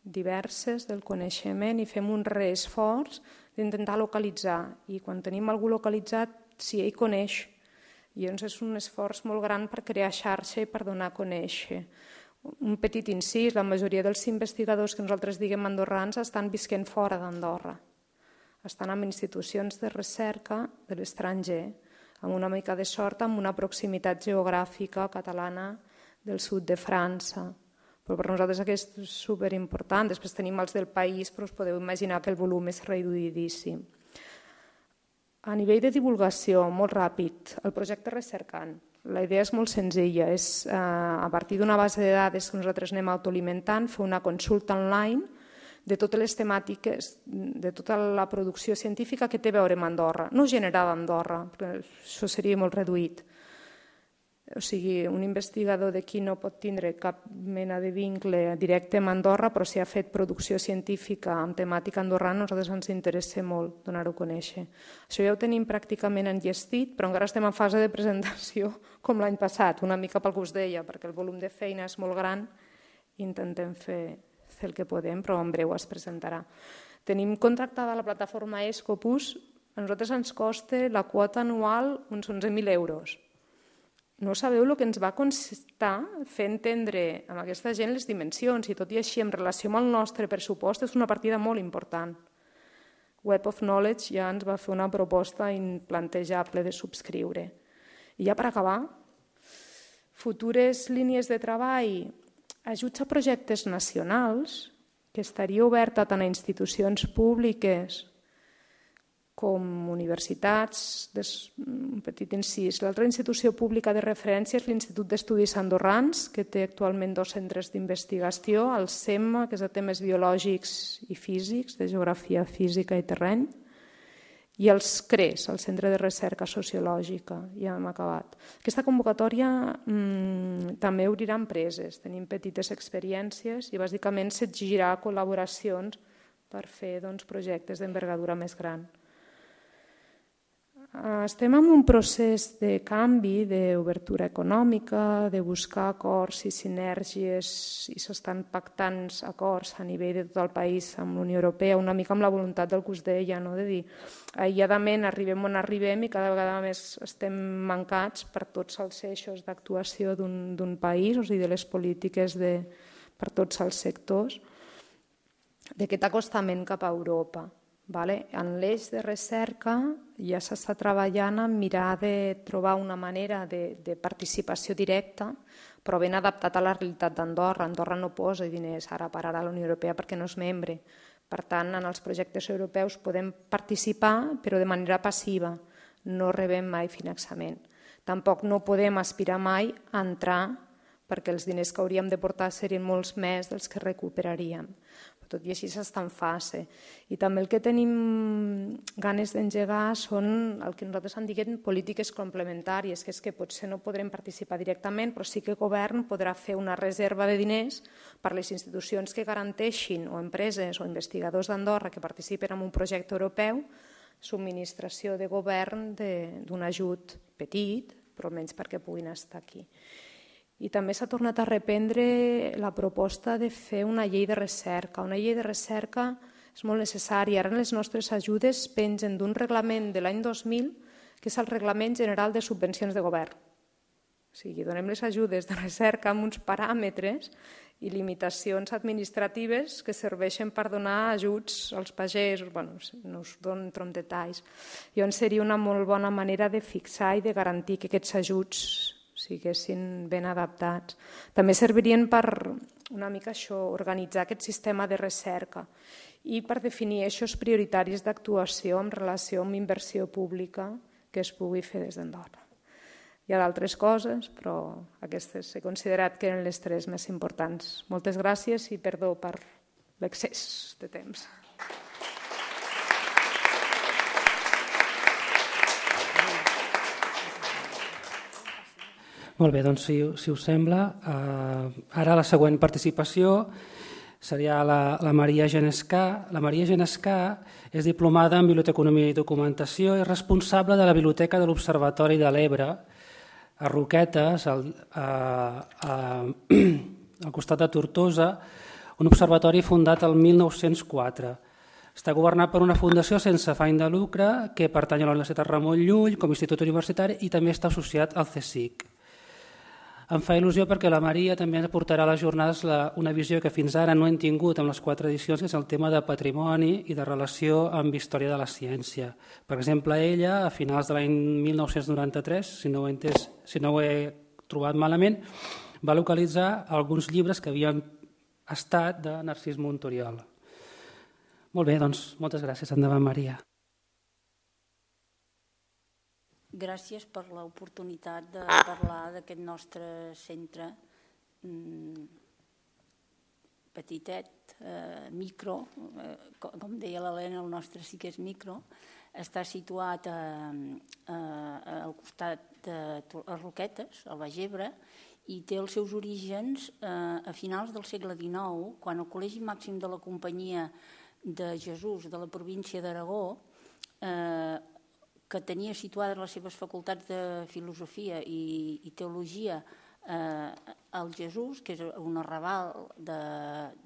diverses del coneixement i fem un reesforç d'intentar localitzar. I quan tenim algú localitzat, si ell coneix. I llavors és un esforç molt gran per crear xarxa i per donar a conèixer. Un petit incís, la majoria dels investigadors que nosaltres diguem andorrans estan visquent fora d'Andorra. Estan en institucions de recerca de l'estranger, amb una mica de sort, amb una proximitat geogràfica catalana del sud de França. Però per nosaltres aquest és superimportant. Després tenim els del país, però us podeu imaginar que el volum és reduïdíssim. A nivell de divulgació, molt ràpid, el projecte Recercant. La idea és molt senzilla, és a partir d'una base de dades que nosaltres anem autoalimentant, fer una consulta online de totes les temàtiques, de tota la producció científica que té a veure amb Andorra, no generada a Andorra, perquè això seria molt reduït. O sigui, un investigador d'aquí no pot tindre cap mena de vincle directe amb Andorra, però si ha fet producció científica amb temàtica andorrana, a nosaltres ens interessa molt donar-ho a conèixer. Això ja ho tenim pràcticament enllestit, però encara estem en fase de presentació com l'any passat, una mica pel que us deia, perquè el volum de feina és molt gran i intentem fer, fer el que podem, però en breu es presentarà. Tenim contractada la plataforma Escopus, a nosaltres ens costa la quota anual uns onze mil euros. No sabeu el que ens va costar fer entendre a aquesta gent les dimensions i tot i així en relació amb el nostre pressupost és una partida molt important. Web of Knowledge ja ens va fer una proposta implantejable de subscriure. I ja per acabar, futures línies de treball, ajuts a projectes nacionals, que estaria oberta tant a institucions públiques com universitats, un petit incís. L'altra institució pública de referència és l'Institut d'Estudis Andorrans, que té actualment dos centres d'investigació, el SEMMA, que és de temes biològics i físics, de geografia física i terreny, i els CRES, el Centre de Recerca Sociològica, ja hem acabat. Aquesta convocatòria mmm, també obrirà empreses, tenim petites experiències i bàsicament s'exigirà col·laboracions per fer doncs, projectes d'envergadura més gran. Estem en un procés de canvi, d'obertura econòmica, de buscar acords i sinergies i s'estan pactant acords a nivell de tot el país amb la Unió Europea, una mica amb la voluntat del que us deia, no? De dir, aïlladament arribem on arribem i cada vegada més estem mancats per tots els eixos d'actuació d'un país, o sigui, de les polítiques de, per tots els sectors, d'aquest acostament cap a Europa. Vale? En l'eix de recerca ja s'està treballant en mirar de trobar una manera de, de participació directa, però ben adaptat a la realitat d'Andorra. Andorra no posa diners ara per ara a la Unió Europea perquè no és membre. Per tant, en els projectes europeus podem participar, però de manera passiva. No rebem mai finançament. Tampoc no podem aspirar mai a entrar perquè els diners que hauríem de portar serien molts més dels que recuperaríem. Tot i així s'està en fase. I també el que tenim ganes d'engegar són el que nosaltres en diguem polítiques complementàries, que és que potser no podrem participar directament, però sí que el govern podrà fer una reserva de diners per a les institucions que garanteixin, o empreses o investigadors d'Andorra que participen en un projecte europeu, subministració de govern d'un ajut petit, però almenys perquè puguin estar aquí. I també s'ha tornat a reprendre la proposta de fer una llei de recerca. Una llei de recerca és molt necessària. Ara les nostres ajudes pengen d'un reglament de l'any dos mil, que és el Reglament General de Subvencions de Govern. O sigui, donem les ajudes de recerca amb uns paràmetres i limitacions administratives que serveixen per donar ajuts als pagesos. Bé, no us dono en detalls. Llavors seria una molt bona manera de fixar i de garantir que aquests ajuts siguessin ben adaptats. També servirien per una mica això, organitzar aquest sistema de recerca i per definir eixos prioritaris d'actuació en relació amb inversió pública que es pugui fer des d'Andorra. Hi ha d'altres coses, però aquestes he considerat que eren les tres més importants. Moltes gràcies i perdó per l'excés de temps. Molt bé, doncs si, si us sembla, eh, ara la següent participació seria la, la Maria Genescà. La Maria Genescà és diplomada en Biblioteconomia i Documentació i responsable de la Biblioteca de l'Observatori de l'Ebre, a Roquetes, al, a, a, al costat de Tortosa, un observatori fundat el mil nou-cents quatre. Està governat per una fundació sense afany de lucre que pertany a la Universitat Ramon Llull com a institut universitari i també està associat al CSIC. Em fa il·lusió perquè la Maria també ens aportarà a les jornades la, una visió que fins ara no hem tingut amb les quatre edicions, que és el tema de patrimoni i de relació amb història de la ciència. Per exemple, ella, a finals de l'any mil nou-cents noranta-tres, si no ho he entès, si no ho he trobat malament, va localitzar alguns llibres que havien estat de Narcís Montoriol. Molt bé, doncs, moltes gràcies. Endavant, Maria. Gràcies per l'oportunitat de parlar d'aquest nostre centre petitet, micro, com deia l'Helena, el nostre sí que és micro, està situat al costat de Roquetes, al Baix Ebre, i té els seus orígens a finals del segle dinou, quan el Col·legi Màxim de la Companyia de Jesús de la província d'Aragó, que tenia situades les seves facultats de filosofia i, i teologia eh, al Jesús, que és un arrabal de,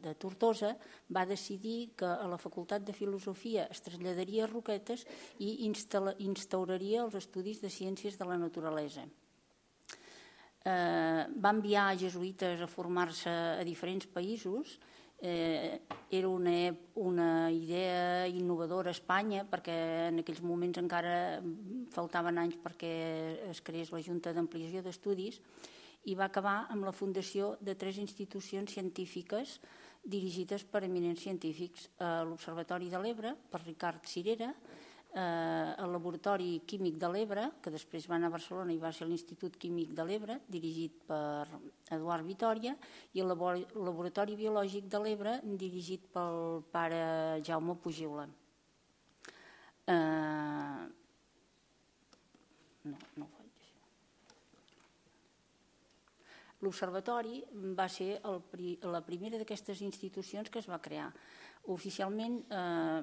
de Tortosa, va decidir que a la facultat de filosofia es traslladaria a Roquetes i instauraria els estudis de ciències de la naturalesa. Eh, va enviar jesuïtes a formar-se a diferents països. Eh, era una, una idea innovadora a Espanya, perquè en aquells moments encara faltaven anys perquè es creés la Junta d'Ampliació d'Estudis, i va acabar amb la fundació de tres institucions científiques dirigides per eminents científics: l'Observatori de l'Ebre, per Ricard Cirera, el Laboratori Químic de l'Ebre, que després va anar a Barcelona i va ser l'Institut Químic de l'Ebre, dirigit per Eduard Vitòria, i el Laboratori Biològic de l'Ebre, dirigit pel pare Jaume Pugiula. Eh... No, no ho faig així. L'Observatori va ser el, la primera d'aquestes institucions que es va crear. Oficialment eh,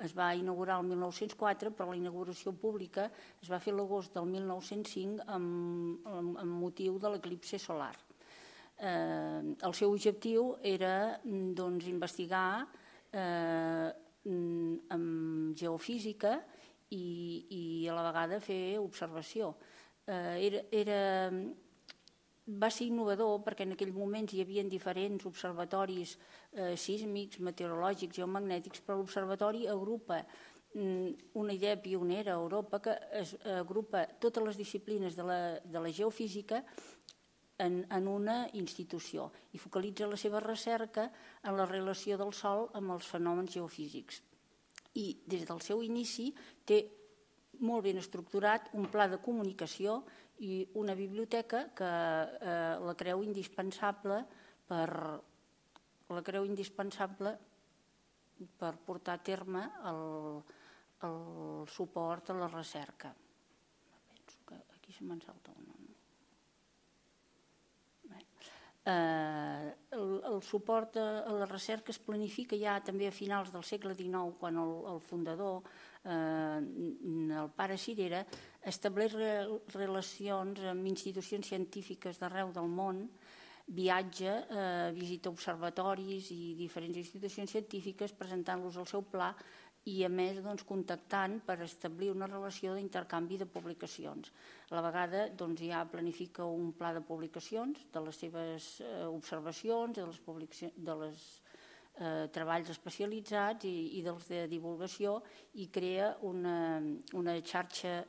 es va inaugurar el mil nou-cents quatre, però la inauguració pública es va fer l'agost del mil nou-cents cinc amb, amb, amb motiu de l'eclipsi solar. Eh, el seu objectiu era doncs, investigar eh, amb geofísica i, i a la vegada fer observació. Eh, era... era Va ser innovador perquè en aquell moment hi havia diferents observatoris eh, sísmics, meteorològics, geomagnètics, però l'observatori agrupa mm, una idea pionera a Europa que es agrupa totes les disciplines de la, de la geofísica en, en una institució i focalitza la seva recerca en la relació del Sol amb els fenòmens geofísics. I des del seu inici té molt ben estructurat un pla de comunicació i una biblioteca que eh, la creu indispensable per la creu indispensable per portar a terme el, el suport a la recerca. Penso que aquí se me'n salta una. No? El suport a la recerca es planifica ja també a finals del segle dinou, quan el fundador, el pare Cirera, estableix relacions amb institucions científiques d'arreu del món, viatja, visita observatoris i diferents institucions científiques presentant-los el seu pla i, a més, contactant per establir una relació d'intercanvi de publicacions. A la vegada ja planifica un pla de publicacions de les seves observacions, dels treballs especialitzats i dels de divulgació, i crea una xarxa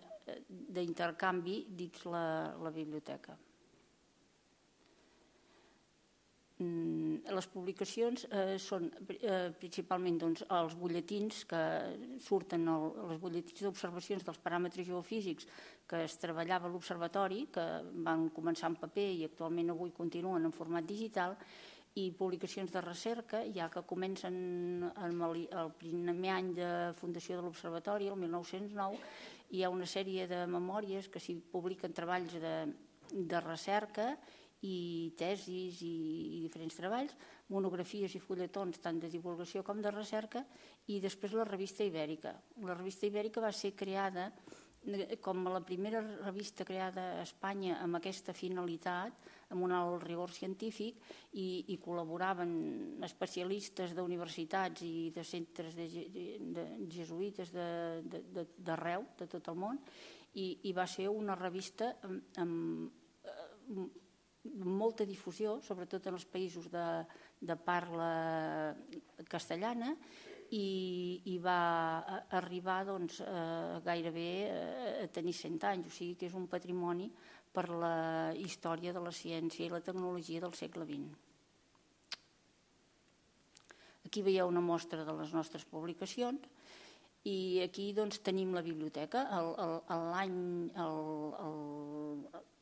d'intercanvi dins la biblioteca. Les publicacions són principalment els butlletins que surten, els butlletins d'observacions dels paràmetres geofísics que es treballava a l'observatori, que van començar en paper i actualment avui continuen en format digital, i publicacions de recerca, ja que comencen el primer any de fundació de l'observatori, el mil nou-cents nou, hi ha una sèrie de memòries que s'hi publiquen treballs de recerca i tesis i diferents treballs, monografies i fulletons tant de divulgació com de recerca, i després la revista Ibèrica. La revista Ibèrica va ser creada com la primera revista creada a Espanya amb aquesta finalitat, amb un alt rigor científic, i col·laboraven especialistes d'universitats i de centres jesuïtes d'arreu, de tot el món, i va ser una revista amb molta difusió, sobretot en els països de parla castellana, i va arribar gairebé a tenir cent anys, o sigui que és un patrimoni per la història de la ciència i la tecnologia del segle vint. Aquí veieu una mostra de les nostres publicacions i aquí tenim la biblioteca. L'any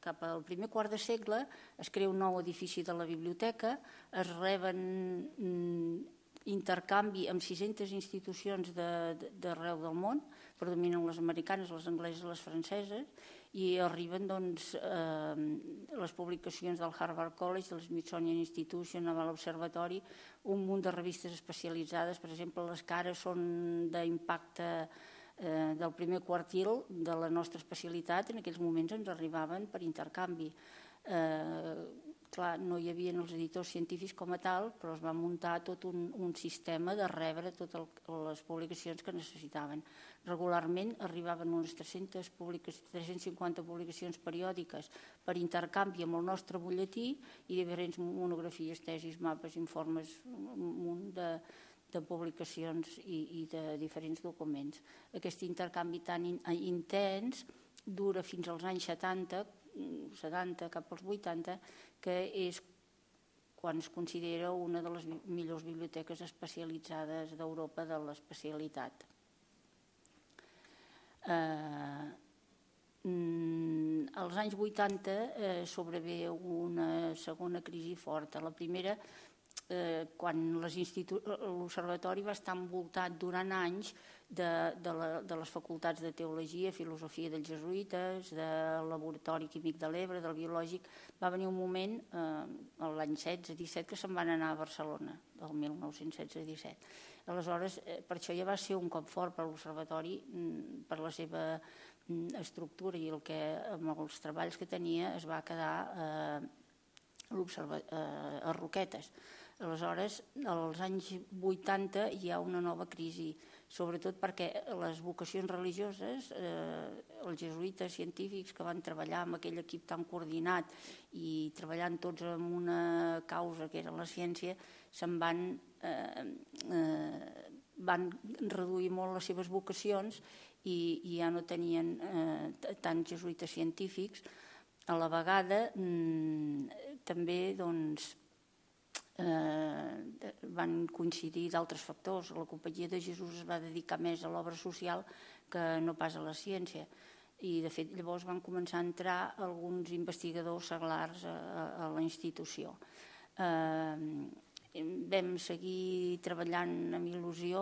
cap al primer quart de segle es crea un nou edifici de la biblioteca, es reben intercanvi amb sis-centes institucions d'arreu del món, predominen les americanes, les angleses, les franceses, i arriben les publicacions del Harvard College, del Smithsonian Institution, Naval Observatory, un munt de revistes especialitzades. Per exemple, les que ara són d'impacte del primer quartil de la nostra especialitat, en aquells moments ens arribaven per intercanvi. Clar, no hi havia els editors científics com a tal, però es va muntar tot un sistema de rebre totes les publicacions que necessitaven. Regularment arribaven unes tres-centes cinquanta publicacions periòdiques per intercanvi amb el nostre butlletí i diferents monografies, tesis, mapes, informes, un munt de publicacions i de diferents documents. Aquest intercanvi tan intens dura fins als anys setanta, setanta cap als vuitanta, que és quan es considera una de les millors biblioteques especialitzades d'Europa de l'especialitat. Als anys vuitanta sobrevé una segona crisi forta. La primera, quan l'Observatori va estar envoltat durant anys de les facultats de teologia, filosofia dels jesuïtes, del laboratori químic de l'Ebre, del biològic, va venir un moment, l'any setze disset, que se'n van anar a Barcelona, del mil nou-cents setze disset. Aleshores, per això ja va ser un cop fort per l'Observatori, per la seva estructura i amb els treballs que tenia es va quedar a Roquetes. Aleshores, als anys vuitanta hi ha una nova crisi, sobretot perquè les vocacions religioses, els jesuïtes científics que van treballar amb aquell equip tan coordinat i treballant tots en una causa que era la ciència, se'n van van reduir molt les seves vocacions i ja no tenien tants jesuïtes científics. A la vegada també doncs van coincidir d'altres factors. La Companyia de Jesús es va dedicar més a l'obra social que no pas a la ciència i de fet llavors van començar a entrar alguns investigadors seglars a la institució. Vam seguir treballant amb il·lusió.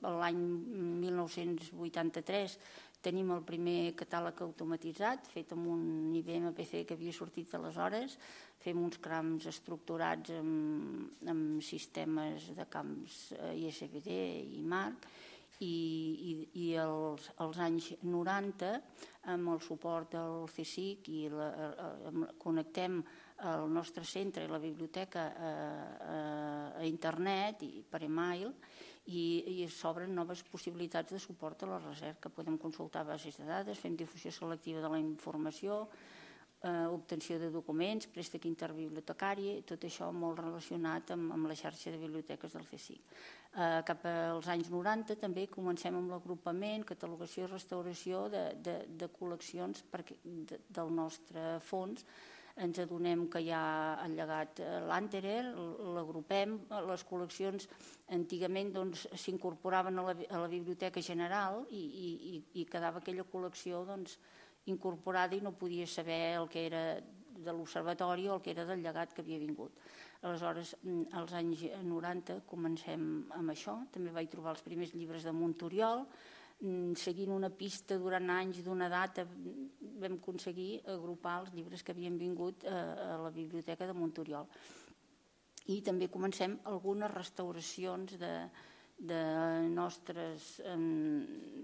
L'any mil nou-cents vuitanta-tres tenim el primer catàleg automatitzat, fet amb un I B M P C que havia sortit aleshores. Fem uns crams estructurats amb sistemes de camps I S B D i M A R C, i als anys noranta, amb el suport del C S I C, connectem el nostre centre i la biblioteca a internet i per e-mail, i s'obren noves possibilitats de suport a la recerca. Podem consultar bases de dades, fem difusió selectiva de la informació, obtenció de documents, préstec interbibliotecari, tot això molt relacionat amb la xarxa de biblioteques del C S I C. Cap als anys noranta també comencem amb l'agrupament, catalogació i restauració de col·leccions del nostre fons. Ens adonem que hi ha el llegat Lanterer, l'agrupem, les col·leccions antigament s'incorporaven a la biblioteca general i quedava aquella col·lecció incorporada i no podia saber el que era de l'observatori o el que era del llegat que havia vingut. Aleshores, als anys noranta comencem amb això. També vaig trobar els primers llibres de Montoriol. Seguint una pista durant anys d'una data vam aconseguir agrupar els llibres que havien vingut a la biblioteca de Montoriol. I també comencem algunes restauracions de nostres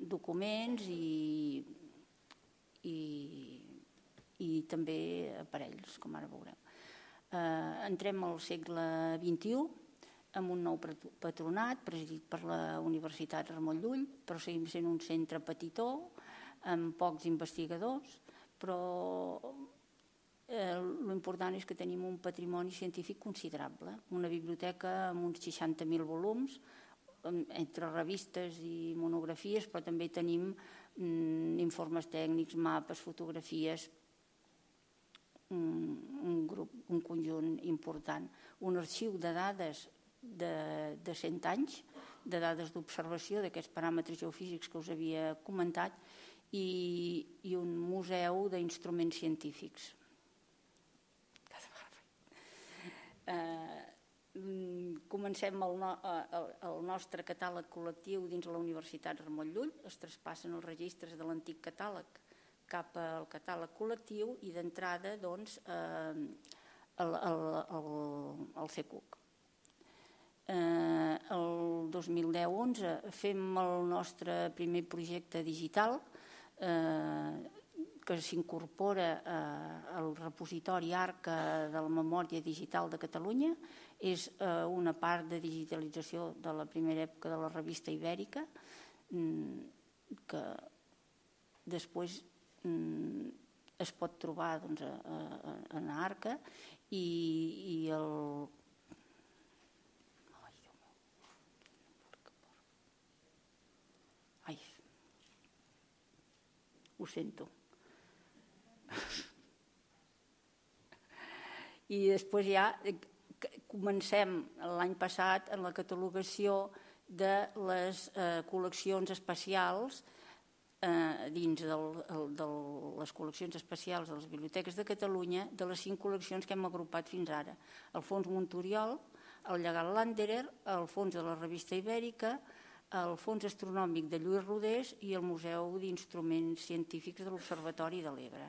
documents i també aparells, com ara veurem. Entrem al segle vint-i-u amb un nou patronat presidit per la Universitat Ramon Llull, però seguim sent un centre petitó, amb pocs investigadors, però l'important és que tenim un patrimoni científic considerable, una biblioteca amb uns seixanta mil volums, entre revistes i monografies, però també tenim informes tècnics, mapes, fotografies, un grup, un conjunt important. Un arxiu de dades de cent anys, de dades d'observació d'aquests paràmetres geofísics que us havia comentat, i un museu d'instruments científics. Comencem el nostre catàleg col·lectiu dins la Universitat Ramon Llull, es traspassen els registres de l'antic catàleg cap al catàleg col·lectiu i d'entrada al C C U C. El dos mil deu onze fem el nostre primer projecte digital que s'incorpora al repositori ARCA de la memòria digital de Catalunya. És una part de digitalització de la primera època de la revista Ibèrica, que després es pot trobar en ARCA, i el... Ai, ho sento. I després ja comencem l'any passat en la catalogació de les col·leccions especials dins de les col·leccions especials de les biblioteques de Catalunya, de les cinc col·leccions que hem agrupat fins ara. El Fons Montoriol, el llegat Landerer, el Fons de la revista Ibèrica, el Fons Astronòmic de Lluís Rodés i el Museu d'Instruments Científics de l'Observatori de l'Ebre.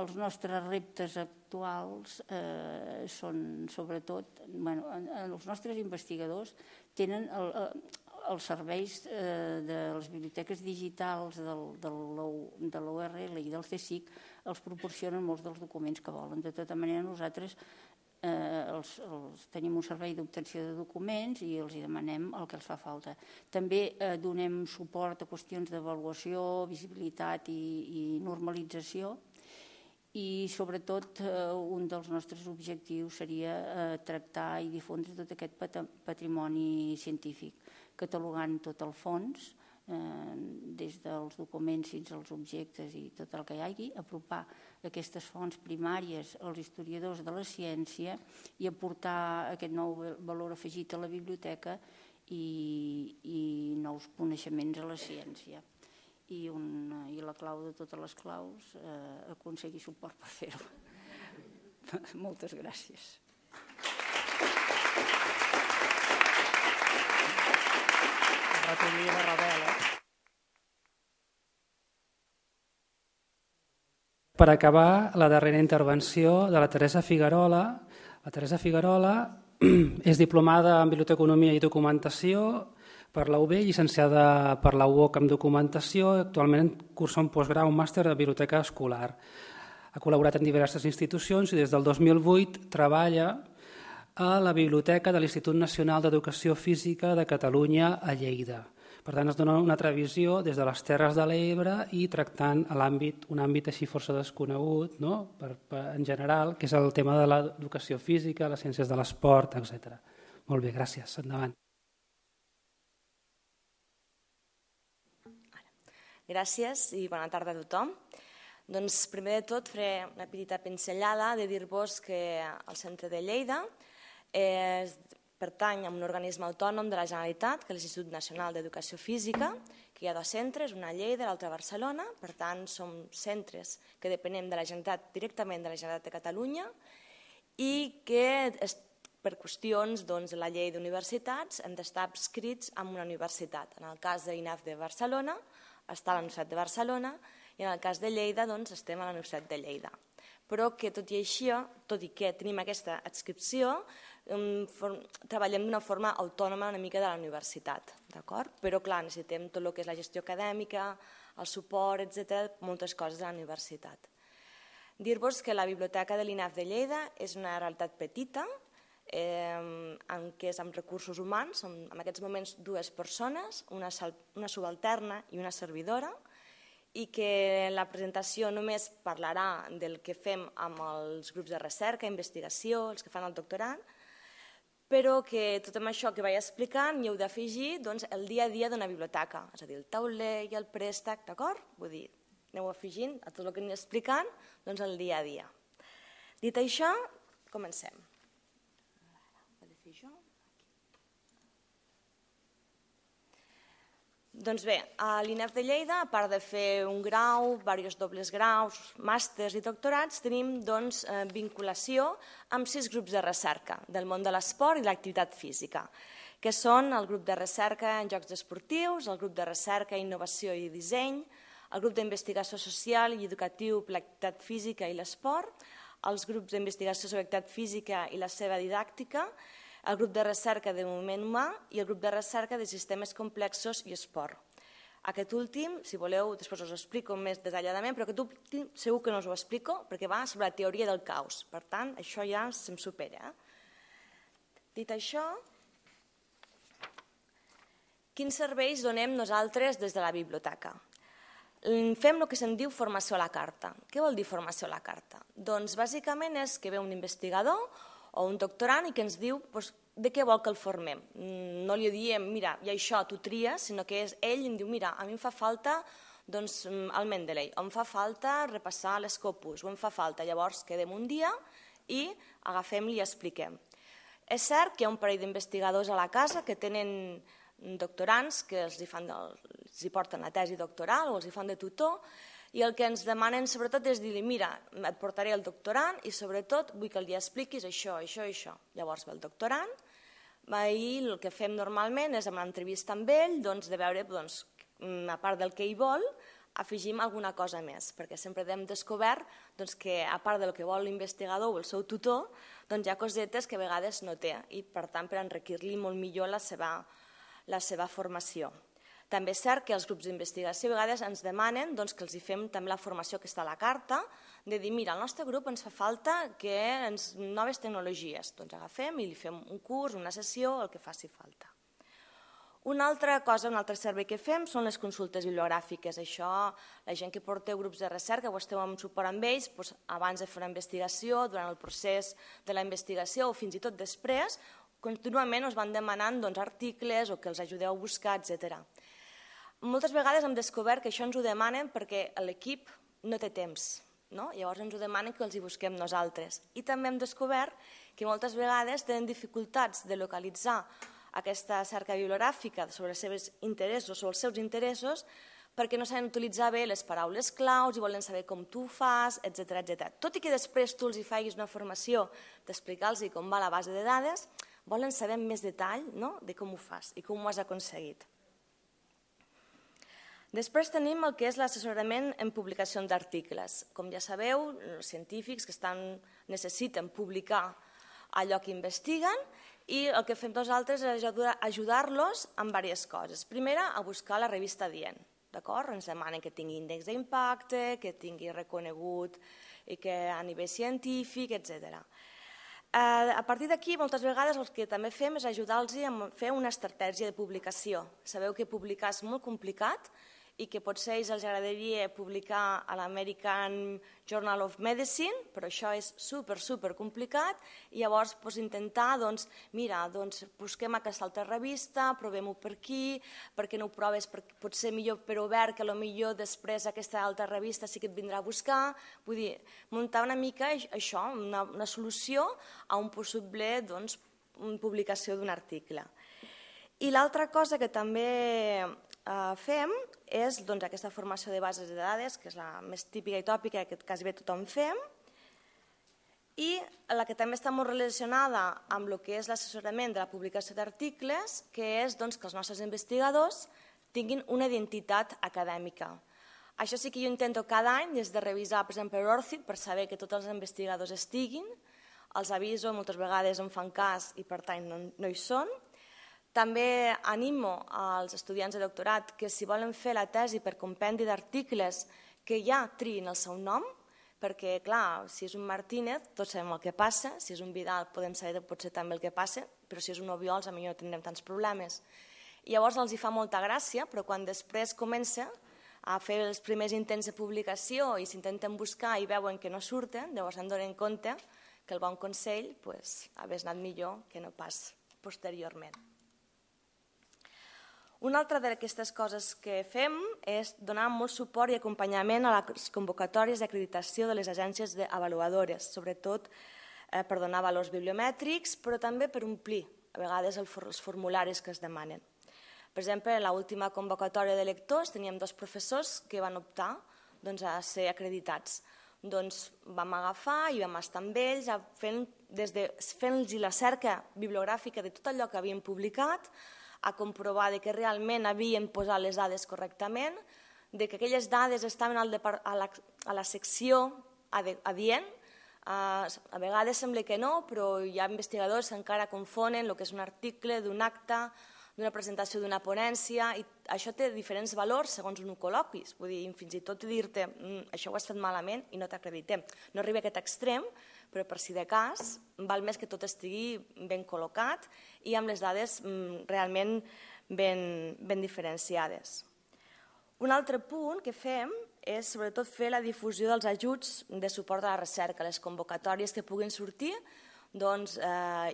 Els nostres reptes actuals són, sobretot, els nostres investigadors tenen els serveis de les biblioteques digitals de l'U R L i del C S I C, els proporcionen molts dels documents que volen. De tota manera, nosaltres tenim un servei d'obtenció de documents i els demanem el que els fa falta. També donem suport a qüestions d'avaluació, visibilitat i normalització, i sobretot un dels nostres objectius seria tractar i difondre tot aquest patrimoni científic, catalogant tot el fons, des dels documents fins als objectes i tot el que hi hagi, apropar aquestes fonts primàries als historiadors de la ciència i aportar aquest nou valor afegit a la biblioteca i nous coneixements a la ciència. I la clau de totes les claus, aconseguir suport per fer-ho. Moltes gràcies. ratolí i la revela. Per acabar, la darrera intervenció de la Teresa Figuerola. La Teresa Figuerola és diplomada en Biblioteconomia i Documentació per la U B, llicenciada per la U O C en Documentació i actualment cursa un postgrau, un màster de Biblioteca Escolar. Ha col·laborat en diverses institucions i des del dos mil vuit treballa a la Biblioteca de l'Institut Nacional d'Educació Física de Catalunya a Lleida. Per tant, es dona una altra visió des de les Terres de l'Ebre i tractant l'àmbit, un àmbit així força desconegut, no? per, per, en general, que és el tema de l'educació física, les ciències de l'esport, etcètera. Molt bé, gràcies. Endavant. Gràcies i bona tarda a tothom. Doncs, primer de tot, faré una petita pinzellada de dir-vos que el Centre de Lleida és pertany a un organisme autònom de la Generalitat, que és l'Institut Nacional d'Educació Física, que hi ha dos centres, una a Lleida i l'altra a Barcelona. Per tant, som centres que depenem de la Generalitat, directament de la Generalitat de Catalunya, i que per qüestions de la llei d'universitats hem d'estar adscrits a una universitat. En el cas de l'I N A F de Barcelona està a la Universitat de Barcelona i en el cas de Lleida estem a la Universitat de Lleida. Però que tot i així, tot i que tenim aquesta adscripció, treballem d'una forma autònoma una mica de la universitat, d'acord? Però clar, necessitem tot el que és la gestió acadèmica, el suport, etcètera, moltes coses de la universitat. Dir-vos que la biblioteca de l'I N A F de Lleida és una realitat petita, en què és amb recursos humans, som en aquests moments dues persones, una subalterna i una servidora, i que la presentació només parlarà del que fem amb els grups de recerca, investigació, els que fan el doctorat, però que tot això que vaig explicant hi heu d'afegir el dia a dia d'una biblioteca, és a dir, el tauler i el préstec, d'acord? Vull dir, aneu afegint a tot el que anem explicant el dia a dia. Dit això, comencem. Doncs bé, a l'I N A F de Lleida, a part de fer un grau, diversos dobles graus, màsters i doctorats, tenim vinculació amb sis grups de recerca del món de l'esport i l'activitat física, que són el grup de recerca en jocs esportius, el grup de recerca, innovació i disseny, el grup d'investigació social i educatiu per l'activitat física i l'esport, els grups d'investigació sobre l'activitat física i la seva didàctica, el grup de recerca de moviment humà i el grup de recerca de sistemes complexos i esport. Aquest últim, si voleu, després us ho explico més detalladament, però aquest últim segur que no us ho explico perquè va sobre la teoria del caos. Per tant, això ja se'm supera. Dit això, quins serveis donem nosaltres des de la biblioteca? Fem el que se'n diu formació a la carta. Què vol dir formació a la carta? Doncs bàsicament és que ve un investigador o un doctorant i que ens diu de què vol que el formem. No li diem, mira, i això tu tries, sinó que ell em diu, mira, a mi em fa falta el Mendeley, o em fa falta repassar l'Scopus, o em fa falta. Llavors quedem un dia i agafem-li i expliquem. És cert que hi ha un parell d'investigadors a la casa que tenen doctorants que els hi porten la tesi doctoral o els hi fan de tutor, i el que ens demanen sobretot és dir-li, mira, et portaré el doctorant i sobretot vull que li expliquis això, això i això. Llavors ve el doctorant i el que fem normalment és amb l'entrevista amb ell de veure, a part del que ell vol, afegim alguna cosa més, perquè sempre hem descobert que a part del que vol l'investigador o el seu tutor, hi ha cosetes que a vegades no té i per tant per enriquir-li molt millor la seva formació. També és cert que els grups d'investigació a vegades ens demanen que els fem també la formació que està a la carta, de dir, mira, al nostre grup ens fa falta noves tecnologies. Doncs agafem i li fem un curs, una sessió, el que faci falta. Una altra cosa, un altre servei que fem són les consultes bibliogràfiques. Això, la gent que porteu grups de recerca o esteu en suport amb ells, abans de fer una investigació, durant el procés de la investigació o fins i tot després, contínuament us van demanant articles o que els ajudeu a buscar, etcètera. Moltes vegades hem descobert que això ens ho demanen perquè l'equip no té temps, llavors ens ho demanen que els hi busquem nosaltres. I també hem descobert que moltes vegades tenen dificultats de localitzar aquesta cerca bibliogràfica sobre els seus interessos o els seus interessos perquè no saben utilitzar bé les paraules claus i volen saber com tu ho fas, etcètera. Tot i que després tu els hi facis una formació d'explicar-los com va la base de dades, volen saber més detall de com ho fas i com ho has aconseguit. Després tenim el que és l'assessorament en publicació d'articles. Com ja sabeu, els científics que estan, necessiten publicar allò que investiguen i el que fem nosaltres és ajudar-los en diverses coses. Primera, a buscar la revista adient. Ens demanen que tingui índex d'impacte, que tingui reconegut i que a nivell científic, etcètera. A partir d'aquí, moltes vegades el que també fem és ajudar-los a fer una estratègia de publicació. Sabeu que publicar és molt complicat i que potser a ells els agradaria publicar a l'American Journal of Medicine, però això és super, super complicat, i llavors intentar, doncs, mira, busquem aquesta altra revista, provem-ho per aquí, perquè no ho proves, potser millor per obert, que potser després aquesta altra revista sí que et vindrà a buscar, vull dir, muntar una mica això, una solució a un possible publicació d'un article. I l'altra cosa que també fem és aquesta formació de bases de dades, que és la més típica i tòpica que quasi bé tothom fem, i la que també està molt relacionada amb el que és l'assessorament de la publicació d'articles, que és que els nostres investigadors tinguin una identitat acadèmica. Això sí que jo intento cada any, des de revisar, per exemple, l'Orcid, per saber que tots els investigadors estiguin, els aviso, moltes vegades em fan cas i per tant no hi són. També animo als estudiants de doctorat que si volen fer la tesi per compendi d'articles que ja triïn el seu nom, perquè, clar, si és un Martínez tots sabem el que passa, si és un Vidal podem saber potser també el que passa, però si és un Obiols potser no tindrem tants problemes. I llavors els hi fa molta gràcia, però quan després comença a fer els primers intents de publicació i s'intenten buscar i veuen que no surten, llavors se'n donen compte que el bon consell hagués anat millor que no pas posteriorment. Una altra d'aquestes coses que fem és donar molt suport i acompanyament a les convocatòries d'acreditació de les agències avaluadores, sobretot per donar valors bibliomètrics, però també per omplir a vegades els formularis que es demanen. Per exemple, en l'última convocatòria de lectors teníem dos professors que van optar a ser acreditats. Doncs vam agafar i vam estar amb ells fent-los la cerca bibliogràfica de tot allò que havien publicat, a comprovar que realment havien posat les dades correctament, que aquelles dades estaven a la secció adient. A vegades sembla que no, però hi ha investigadors que encara confonen el que és un article, d'un acte, d'una presentació d'una ponència, i això té diferents valors segons un ho col·loquis. Vull dir, fins i tot dir-te això ho has fet malament i no t'acreditem. No arriba a aquest extrem, però per si de cas val més que tot estigui ben col·locat i amb les dades realment ben diferenciades. Un altre punt que fem és sobretot fer la difusió dels ajuts de suport a la recerca, les convocatòries que puguin sortir,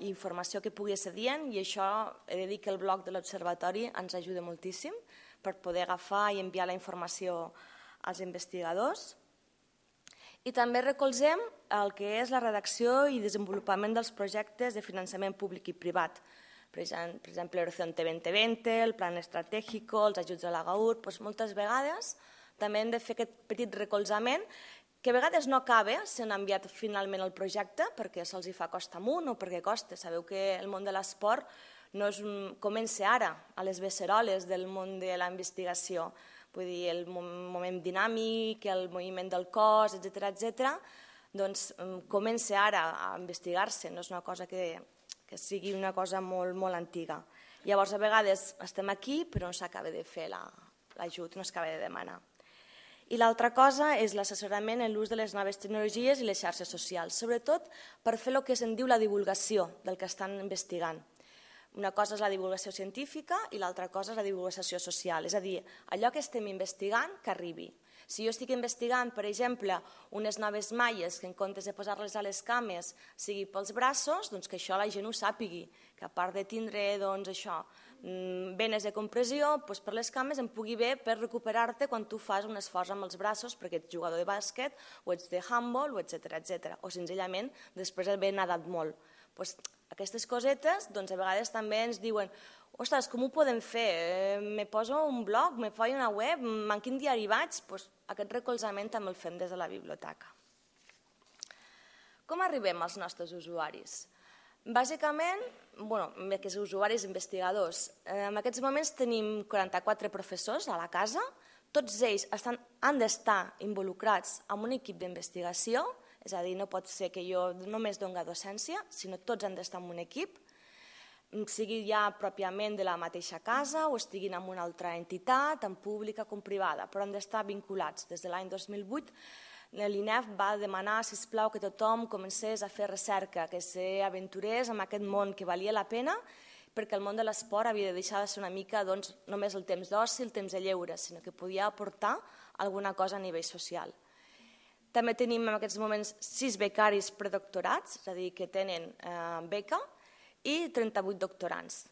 informació que pugui ser dient, i això he de dir que el blog de l'Observatori ens ajuda moltíssim per poder agafar i enviar la informació als investigadors. I també recolzem el que és la redacció i desenvolupament dels projectes de finançament públic i privat. Per exemple, l'Horizonte dos mil vint, el Plan Estratégico, els ajuts a la GAUR, moltes vegades també hem de fer aquest petit recolzament que a vegades no acaba sent enviat finalment al projecte perquè se'ls fa costa amunt o perquè costa. Sabeu que el món de l'esport no comença ara a les beceroles del món de la investigació. Vull dir, el moment dinàmic, el moviment del cos, etcètera, etcètera, doncs comença ara a investigar-se, no és una cosa que sigui una cosa molt, molt antiga. Llavors, a vegades estem aquí, però no s'acaba de fer l'ajut, no s'acaba de demanar. I l'altra cosa és l'assessorament en l'ús de les noves tecnologies i les xarxes socials, sobretot per fer el que se'n diu la divulgació del que estan investigant. Una cosa és la divulgació científica i l'altra cosa és la divulgació social, és a dir, allò que estem investigant que arribi. Si jo estic investigant, per exemple, unes noves malles que en comptes de posar-les a les cames sigui pels braços, doncs que això la gent ho sàpigui, que a part de tindre venes de compressió, per les cames em pugui bé per recuperar-te quan tu fas un esforç amb els braços perquè ets jugador de bàsquet o ets de handball, etcètera, o senzillament després d'haver nadat molt. Aquestes cosetes a vegades també ens diuen ostres, com ho podem fer? Me poso un blog, me faig una web, en quin diari vaig? Aquest recolzament també el fem des de la biblioteca. Com arribem als nostres usuaris? Bàsicament, bé, que són usuaris investigadors. En aquests moments tenim quaranta-quatre professors a la casa, Tots ells estan, han d'estar involucrats en un equip d'investigació, és a dir, no pot ser que jo només doni docència, sinó tots han d'estar en un equip, sigui ja pròpiament de la mateixa casa o estiguin en una altra entitat, tant pública com privada, però han d'estar vinculats. Des de l'any dos mil vuit l'I N E F va demanar, sisplau, que tothom comencés a fer recerca, que s'aventurés en aquest món que valia la pena, perquè el món de l'esport havia de deixar de ser una mica només el temps d'oci, el temps de lleure, sinó que podia aportar alguna cosa a nivell social. També tenim en aquests moments sis becaris predoctorats, és a dir, que tenen beca, i trenta-vuit doctorants.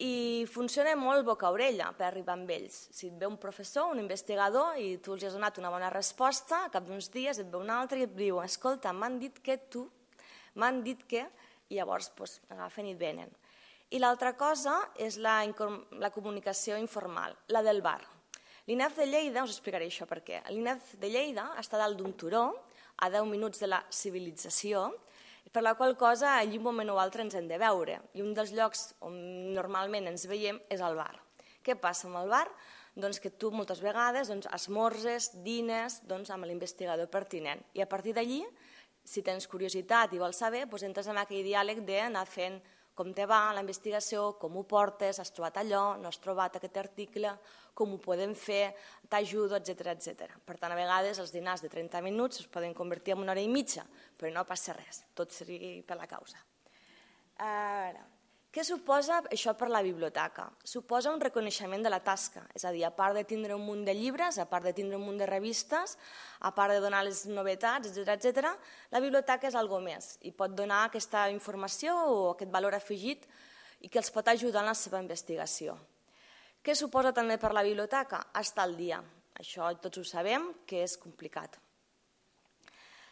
I funciona molt boca-orella per arribar amb ells. Si et ve un professor, un investigador, i tu els has donat una bona resposta, a cap d'uns dies et ve un altre i et diu, escolta, m'han dit que tu, m'han dit que, i llavors agafen i et venen. I l'altra cosa és la comunicació informal, la del bar. L'I N E F de Lleida, us explicaré això per què, l'I N E F de Lleida està dalt d'un turó, a deu minuts de la civilització, per la qual cosa allí un moment o altre ens hem de veure. I un dels llocs on normalment ens veiem és al bar. Què passa amb el bar? Doncs que tu moltes vegades esmorzes, dines amb l'investigador pertinent. I a partir d'allí, si tens curiositat i vols saber, entres en aquell diàleg d'anar fent com te va la investigació, com ho portes, has trobat allò, no has trobat aquest article, com ho podem fer, t'ajudo, etcètera, etcètera. Per tant, a vegades els dinars de trenta minuts es poden convertir en una hora i mitja, però no passa res, tot sigui per la causa. Ara, què suposa això per la biblioteca? Suposa un reconeixement de la tasca, és a dir, a part de tindre un munt de llibres, a part de tindre un munt de revistes, a part de donar les novetats, etcètera, etcètera, la biblioteca és algo més i pot donar aquesta informació o aquest valor afegit i que els pot ajudar en la seva investigació. Què suposa també per la biblioteca? Estar al dia. Això tots ho sabem, que és complicat.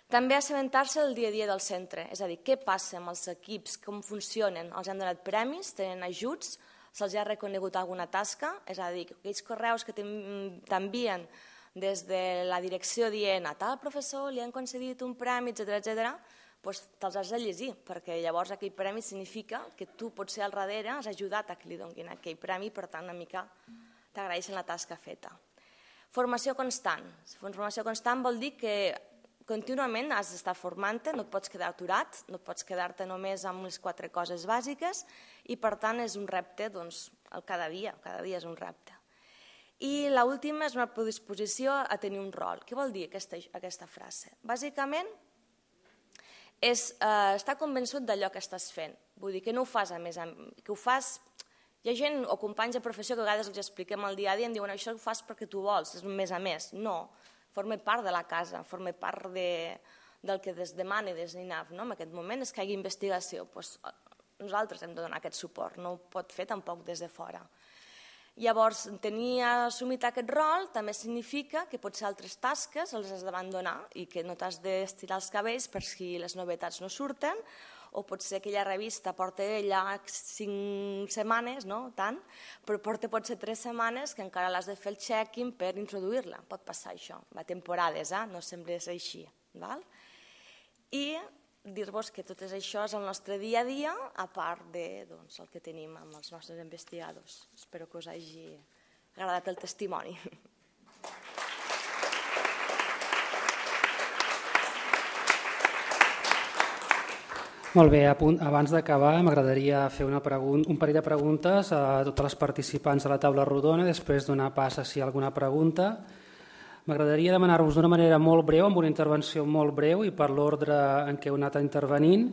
També assabentar-se del dia a dia del centre, és a dir, què passa amb els equips, com funcionen, els han donat premis, tenen ajuts, se'ls ha reconegut alguna tasca, és a dir, aquells correus que t'envien des de la direcció dient a tal professor li han concedit un premi, etcètera, etcètera, te'ls has de llegir, perquè llavors aquell premi significa que tu potser al darrere has ajudat a que li donin aquell premi, per tant una mica t'agraeixen la tasca feta. Formació constant. Formació constant vol dir que contínuament has d'estar formant-te, no et pots quedar aturat, no pots quedar-te només amb les quatre coses bàsiques i per tant és un repte cada dia, cada dia és un repte. I l'última és una predisposició a tenir un rol. Què vol dir aquesta frase? Bàsicament és estar convençut d'allò que estàs fent, vull dir que no ho fas a més, que ho fas... Hi ha gent o companys de professió que a vegades els expliquem el dia a dia i em diuen això ho fas perquè tu vols, és un més a més. No, forma part de la casa, forma part del que es demana des d'I N E F. En aquest moment és que hi hagi investigació. Nosaltres hem de donar aquest suport, no ho pot fer tampoc des de fora. Llavors, tenir assumit aquest rol també significa que potser altres tasques els has d'abandonar i que no t'has d'estirar els cabells per si les novetats no surten, o potser aquella revista porta ja cinc setmanes, no tant, però porta potser tres setmanes que encara l'has de fer el check-in per introduir-la. Pot passar això, va temporades, no sempre és així. I dir-vos que tot això és el nostre dia a dia, a part del que tenim amb els nostres investigadors. Espero que us hagi agradat el testimoni. Molt bé, abans d'acabar m'agradaria fer un parell de preguntes a totes les participants de la taula rodona i després donar pas a si hi ha alguna pregunta. M'agradaria demanar-vos d'una manera molt breu, amb una intervenció molt breu i per l'ordre en què heu anat intervenint,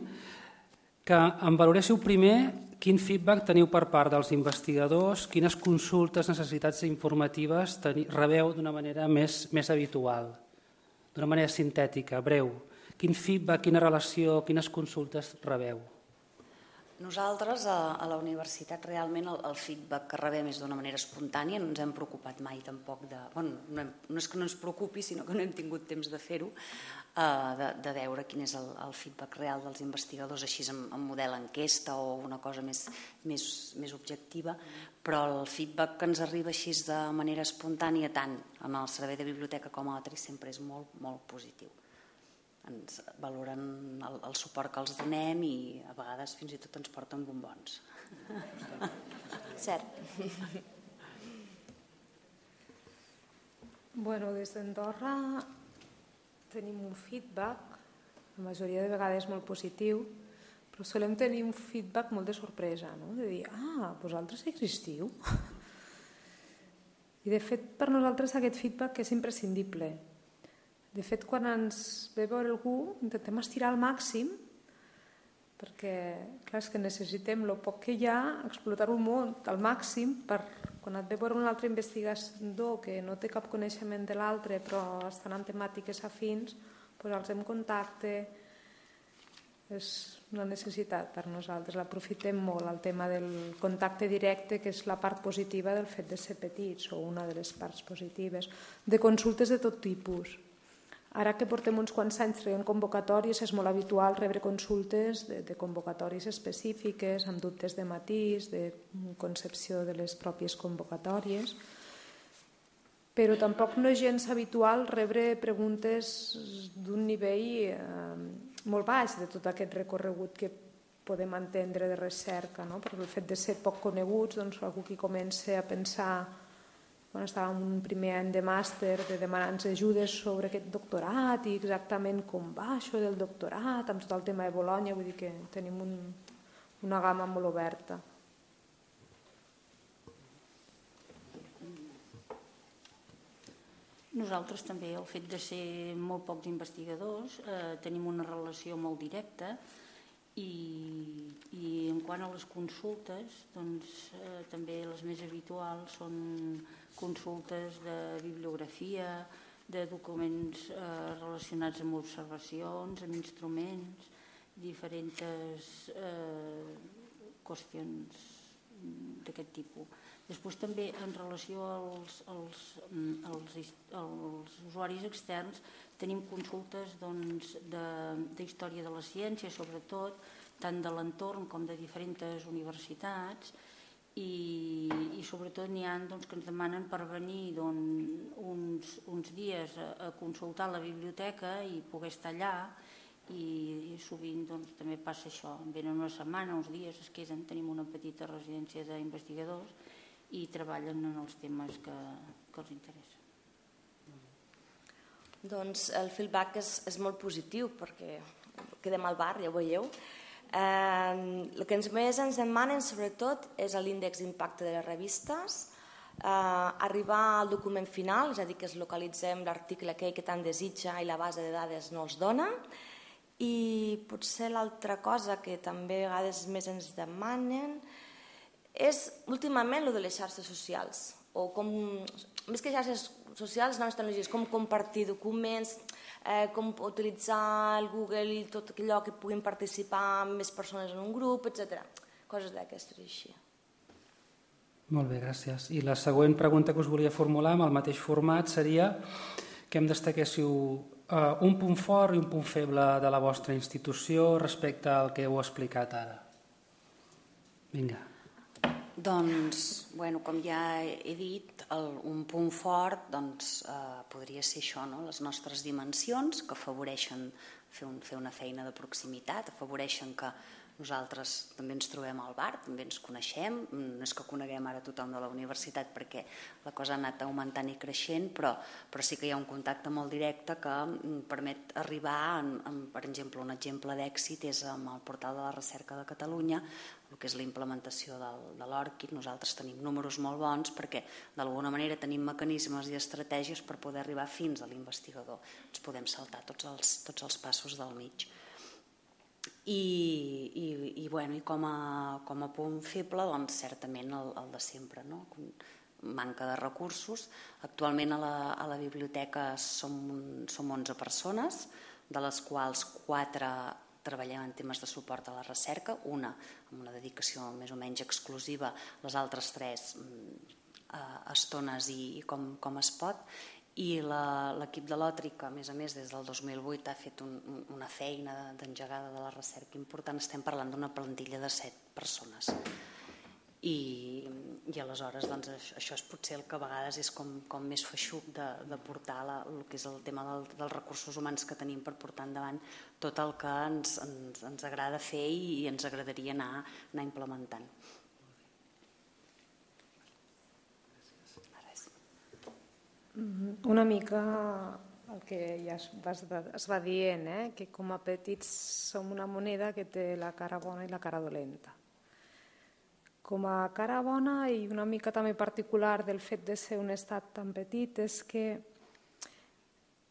que em valoréssiu primer quin feedback teniu per part dels investigadors, quines consultes, necessitats informatives rebeu d'una manera més habitual, d'una manera sintètica, breu. Quin feedback, quina relació, quines consultes rebeu? Nosaltres a la universitat realment el feedback que rebem és d'una manera espontània, no ens hem preocupat mai tampoc de... No és que no ens preocupi, sinó que no hem tingut temps de fer-ho, de veure quin és el feedback real dels investigadors, així en model enquesta o una cosa més objectiva, però el feedback que ens arriba així de manera espontània, tant en el servei de biblioteca com a altres, sempre és molt, molt positiu. Ens valoren el suport que els donem i a vegades fins i tot ens porten bombons. Cert. Bueno, des d'Andorra tenim un feedback, la majoria de vegades molt positiu, però solem tenir un feedback molt de sorpresa, no? De dir, ah, vosaltres existiu? I de fet, per nosaltres aquest feedback és imprescindible. De fet, quan ens ve veure algú, intentem estirar al màxim, perquè, clar, és que necessitem el poc que hi ha, explotar-ho molt al màxim, per quan et ve veure un altre investigador que no té cap coneixement de l'altre, però estan en temàtiques afins, posar-los en contacte és una necessitat per nosaltres. L'aprofitem molt, el tema del contacte directe, que és la part positiva del fet de ser petits, o una de les parts positives, de consultes de tot tipus. Ara que portem uns quants anys traient convocatòries, és molt habitual rebre consultes de, de convocatòries específiques, amb dubtes de matís, de concepció de les pròpies convocatòries, però tampoc no és gens habitual rebre preguntes d'un nivell eh, molt baix de tot aquest recorregut que podem entendre de recerca, no? Per el fet de ser poc coneguts, doncs algú que comença a pensar, quan estàvem en un primer any de màster, de demanar-nos ajudes sobre aquest doctorat i exactament com va això del doctorat, amb tot el tema de Bolonya, vull dir que tenim un, una gamma molt oberta. Nosaltres també, el fet de ser molt pocs investigadors, eh, tenim una relació molt directa i, i en quant a les consultes, doncs, eh, també les més habituals són consultes de bibliografia, de documents eh, relacionats amb observacions, amb instruments, diferents eh, qüestions d'aquest tipus. Després també en relació als, als, als, als usuaris externs tenim consultes doncs, de, de història de la ciència, sobretot, tant de l'entorn com de diferents universitats, i, i sobretot n'hi ha doncs, que ens demanen per venir doncs, uns, uns dies a, a consultar la biblioteca i poder estar allà, i, i sovint doncs, també passa això, venen una setmana, uns dies, es queden, tenim una petita residència d'investigadors i treballen en els temes que, que els interessen. Doncs el feedback és, és molt positiu perquè quedem al bar, ja ho veieu. Eh, el que ens més ens demanen sobretot és l'índex d'impacte de les revistes, eh, arribar al document final, és a dir, que es localitzem l'article aquell que tant desitja i la base de dades no els dona, i potser l'altra cosa que també a vegades més ens demanen és últimament el de les xarxes socials, o com, més que xarxes socials, noves tecnologies, com compartir documents, eh, com utilitzar el Google i tot allò que puguin participar més persones en un grup, etcètera. Coses d'aquestes així. Molt bé, gràcies. I la següent pregunta que us volia formular amb el mateix format seria que em destaquéssiu eh, un punt fort i un punt feble de la vostra institució respecte al que heu explicat ara. Vinga. Doncs, bueno, com ja he dit, el, un punt fort doncs, eh, podria ser això, no? Les nostres dimensions que afavoreixen fer, un, fer una feina de proximitat, afavoreixen que nosaltres també ens trobem al bar, també ens coneixem, no és que coneguem ara tothom de la universitat perquè la cosa ha anat augmentant i creixent, però, però sí que hi ha un contacte molt directe que permet arribar, en, en, per exemple, un exemple d'èxit és amb el portal de la recerca de Catalunya, el que és la implementació del, de l'ORCID. Nosaltres tenim números molt bons perquè d'alguna manera tenim mecanismes i estratègies per poder arribar fins a l'investigador. Ens podem saltar tots els, tots els passos del mig. I, i, i, bueno, i com, a, com a punt feble, doncs, certament el, el de sempre, no? Manca de recursos. Actualment a la, a la biblioteca som, som onze persones, de les quals quatre treballem en temes de suport a la recerca, una amb una dedicació més o menys exclusiva, les altres tres a estones i, i com, com es pot, i l'equip de l'Òtric, a més a més, des del dos mil vuit ha fet un, una feina d'engegada de la recerca important. Estem parlant d'una plantilla de set persones. I, i aleshores doncs, això és potser el que a vegades és com, com més feixuc de, de portar la, el que és el tema del, dels recursos humans que tenim per portar endavant tot el que ens, ens, ens agrada fer i, i ens agradaria anar, anar implementant. Una mica el que ja es va, es va dient, eh? Que com a petits som una moneda que té la cara bona i la cara dolenta. Com a cara bona i una mica també particular del fet de ser un estat tan petit és que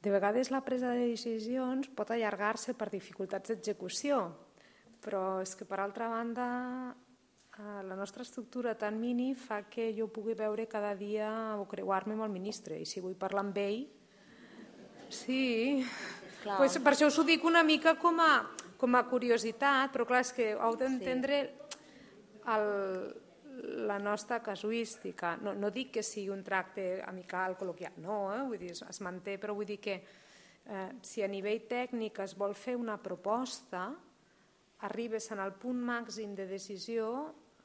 de vegades la presa de decisions pot allargar-se per dificultats d'execució, però és que per altra banda la nostra estructura tan mini fa que jo pugui veure cada dia o creuar-me amb el ministre, i si vull parlar amb ell, sí, pues per això us ho dic una mica com a, com a curiositat, però clar, és que heu d'entendre el, la nostra casuística. No, no dic que sigui un tracte amical, col·loquial, no, eh? Vull dir, es manté, però vull dir que eh, si a nivell tècnic es vol fer una proposta, arribes en el punt màxim de decisió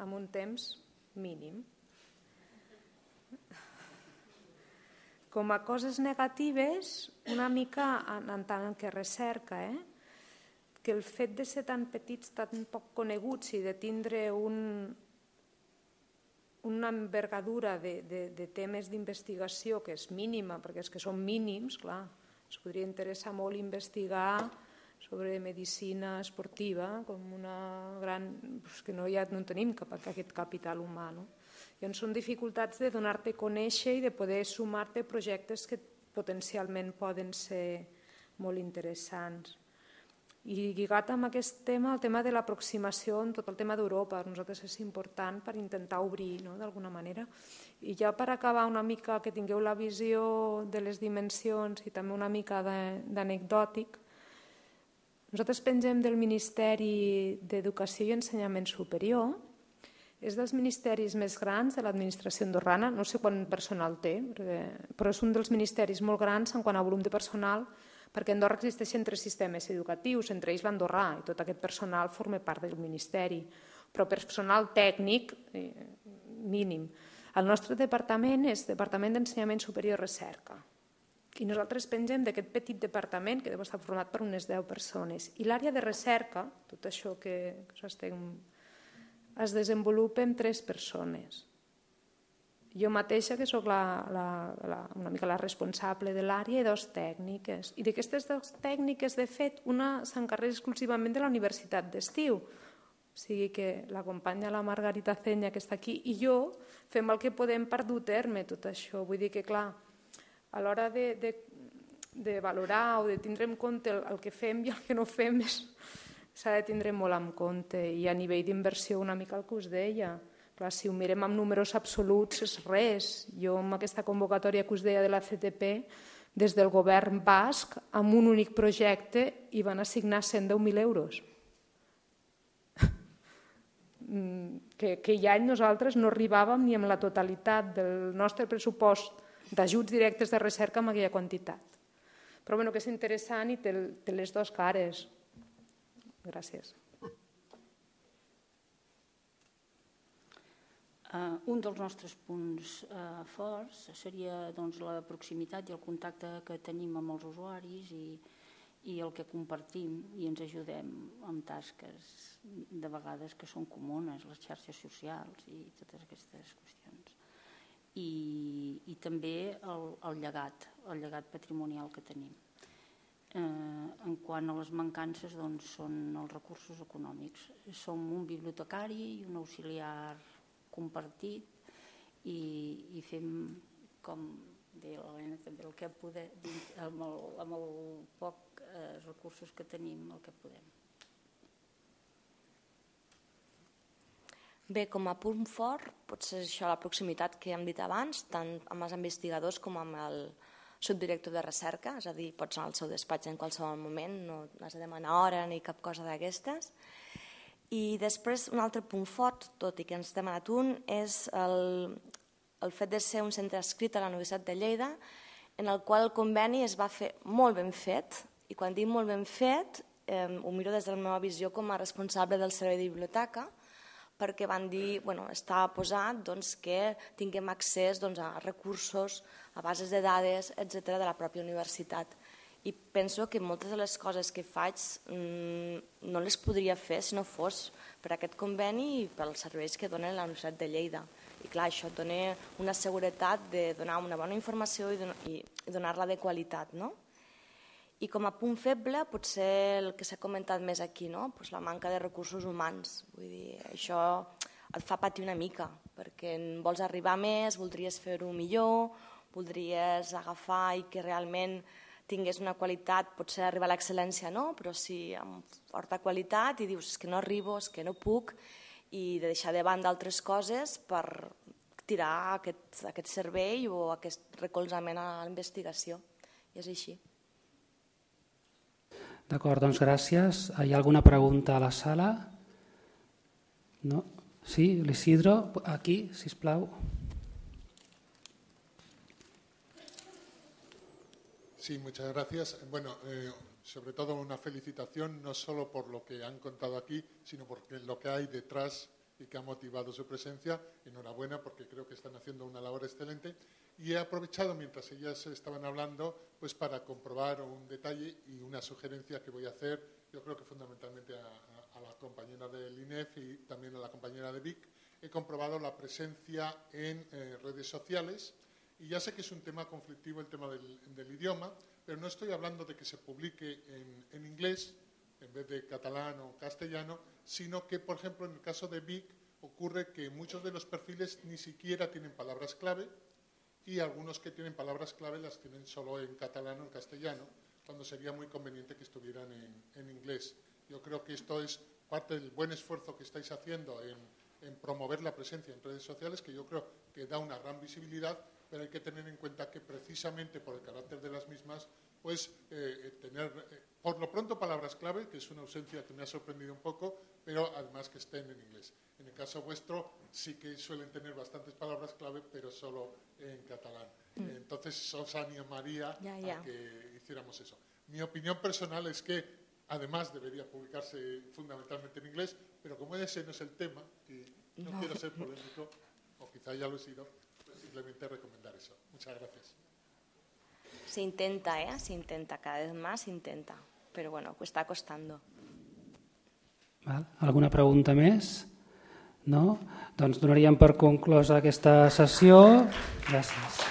amb un temps mínim. Com a coses negatives, una mica en, en tant que recerca, eh? Que el fet de ser tan petits, tan poc coneguts i de tindre un, una envergadura de, de, de temes d'investigació que és mínima, perquè és que són mínims, clar, es podria interessar molt investigar sobre medicina esportiva, com una gran... Pues que no, ja no tenim cap, aquest capital humà, no? Llavors són dificultats de donar-te a conèixer i de poder sumar-te projectes que potencialment poden ser molt interessants. I lligat amb aquest tema, el tema de l'aproximació en tot el tema d'Europa, per nosaltres és important per intentar obrir, no?, d'alguna manera. I ja per acabar una mica, que tingueu la visió de les dimensions i també una mica d'anecdòtic, nosaltres pengem del Ministeri d'Educació i Ensenyament Superior, és dels ministeris més grans de l'administració andorrana, no sé quant personal té, però és un dels ministeris molt grans en quant a volum de personal, perquè a Andorra existeixen tres sistemes educatius, entre ells l'andorrà, i tot aquest personal forma part del Ministeri, però personal tècnic mínim. El nostre departament és Departament d'Ensenyament Superior i Recerca, i nosaltres pengem d'aquest petit departament, que deu estar format per unes deu persones, i l'àrea de recerca, tot això que estem, es desenvolupa en tres persones. Jo mateixa, que soc la, la, la, una mica la responsable de l'àrea, i dos tècniques. I d'aquestes dues tècniques, de fet, una s'encarrega exclusivament de la Universitat d'Estiu. O sigui que la companya, la Margarita Cenya, que està aquí, i jo fem el que podem per dur a terme tot això. Vull dir que, clar, a l'hora de, de, de valorar o de tindre en compte el, el que fem i el que no fem s'ha de tindre molt en compte. I a nivell d'inversió, una mica el que us deia, clar, si ho mirem amb números absoluts és res. Jo amb aquesta convocatòria que us deia de la C T P, des del govern basc, amb un únic projecte hi van assignar cent deu mil euros. Que aquell any nosaltres no arribàvem ni amb la totalitat del nostre pressupost d'ajuts directes de recerca amb aquella quantitat. Però bueno, que és interessant i té, té les dues cares. Gràcies. Uh, un dels nostres punts uh, forts seria doncs, la proximitat i el contacte que tenim amb els usuaris i, i el que compartim i ens ajudem amb tasques de vegades que són comunes, les xarxes socials i totes aquestes qüestions. I, i també el, el llegat, el llegat patrimonial que tenim. Eh, en quant a les mancances, doncs, són els recursos econòmics. Som un bibliotecari i un auxiliar compartit i, i fem, com deia l'Helena, també el que podem, amb el, amb el poc eh, recursos que tenim, el que podem. Bé, com a punt fort, potser això la proximitat que hem dit abans, tant amb els investigadors com amb el subdirector de recerca, és a dir, pots anar al seu despatx en qualsevol moment, no has de demanar hora ni cap cosa d'aquestes. I després, un altre punt fort, tot i que ens ha demanat un, és el, el fet de ser un centre adscrit a la Universitat de Lleida, en el qual el conveni es va fer molt ben fet, i quan dic molt ben fet, eh, ho miro des de la meva visió com a responsable del servei de biblioteca, perquè van dir, bueno, està posat doncs, que tinguem accés doncs, a recursos, a bases de dades, etcètera, de la pròpia universitat. I penso que moltes de les coses que faig mmm, no les podria fer si no fos per aquest conveni i pels serveis que dona la Universitat de Lleida. I clar, això et dona una seguretat de donar una bona informació i donar-la de qualitat, no? I com a punt feble, potser el que s'ha comentat més aquí, no? Pues la manca de recursos humans. Vull dir, això et fa patir una mica, perquè vols arribar més, voldries fer-ho millor, voldries agafar i que realment tingués una qualitat, potser arribar a l'excel·lència no, però sí amb forta qualitat i dius que no arribo, que no puc, i de deixar de banda altres coses per tirar aquest, aquest servei o aquest recolzament a la investigació. I és així. D'acord, doncs gràcies. Hi ha alguna pregunta a la sala? No? Sí, l'Isidro, aquí, sisplau. Sí, muchas gracias. Bueno, eh, sobre todo una felicitación, no solo por lo que han contado aquí, sino por lo que hay detrás y que ha motivado su presencia. Enhorabuena, porque creo que están haciendo una labor excelente. Y he aprovechado, mientras ellas estaban hablando, pues para comprobar un detalle y una sugerencia que voy a hacer, yo creo que fundamentalmente a, a, a la compañera del I N E F y también a la compañera de Vic. He comprobado la presencia en eh, redes sociales. Y ya sé que es un tema conflictivo el tema del, del idioma, pero no estoy hablando de que se publique en, en inglés en vez de catalán o castellano, sino que, por ejemplo, en el caso de Vic ocurre que muchos de los perfiles ni siquiera tienen palabras clave y algunos que tienen palabras clave las tienen solo en catalán o en castellano, cuando sería muy conveniente que estuvieran en, en inglés. Yo creo que esto es parte del buen esfuerzo que estáis haciendo en, en promover la presencia en redes sociales, que yo creo que da una gran visibilidad, pero hay que tener en cuenta que precisamente por el carácter de las mismas, pues eh, tener, eh, por lo pronto, palabras clave, que es una ausencia que me ha sorprendido un poco, pero además que estén en inglés. En el caso vuestro sí que suelen tener bastantes palabras clave, pero solo en catalán. Mm. Entonces os animaría ya, ya. a que hiciéramos eso. Mi opinión personal es que además debería publicarse fundamentalmente en inglés, pero como ese no es el tema, y no, no. quiero ser polémico, o quizá ya lo he sido, pues simplemente recomendar eso. Muchas gracias. Se intenta, ¿eh? Se intenta, cada vez más se intenta, pero bueno, está costando. Val. Alguna pregunta més? No? Doncs donaríem per conclosa aquesta sessió. Gràcies.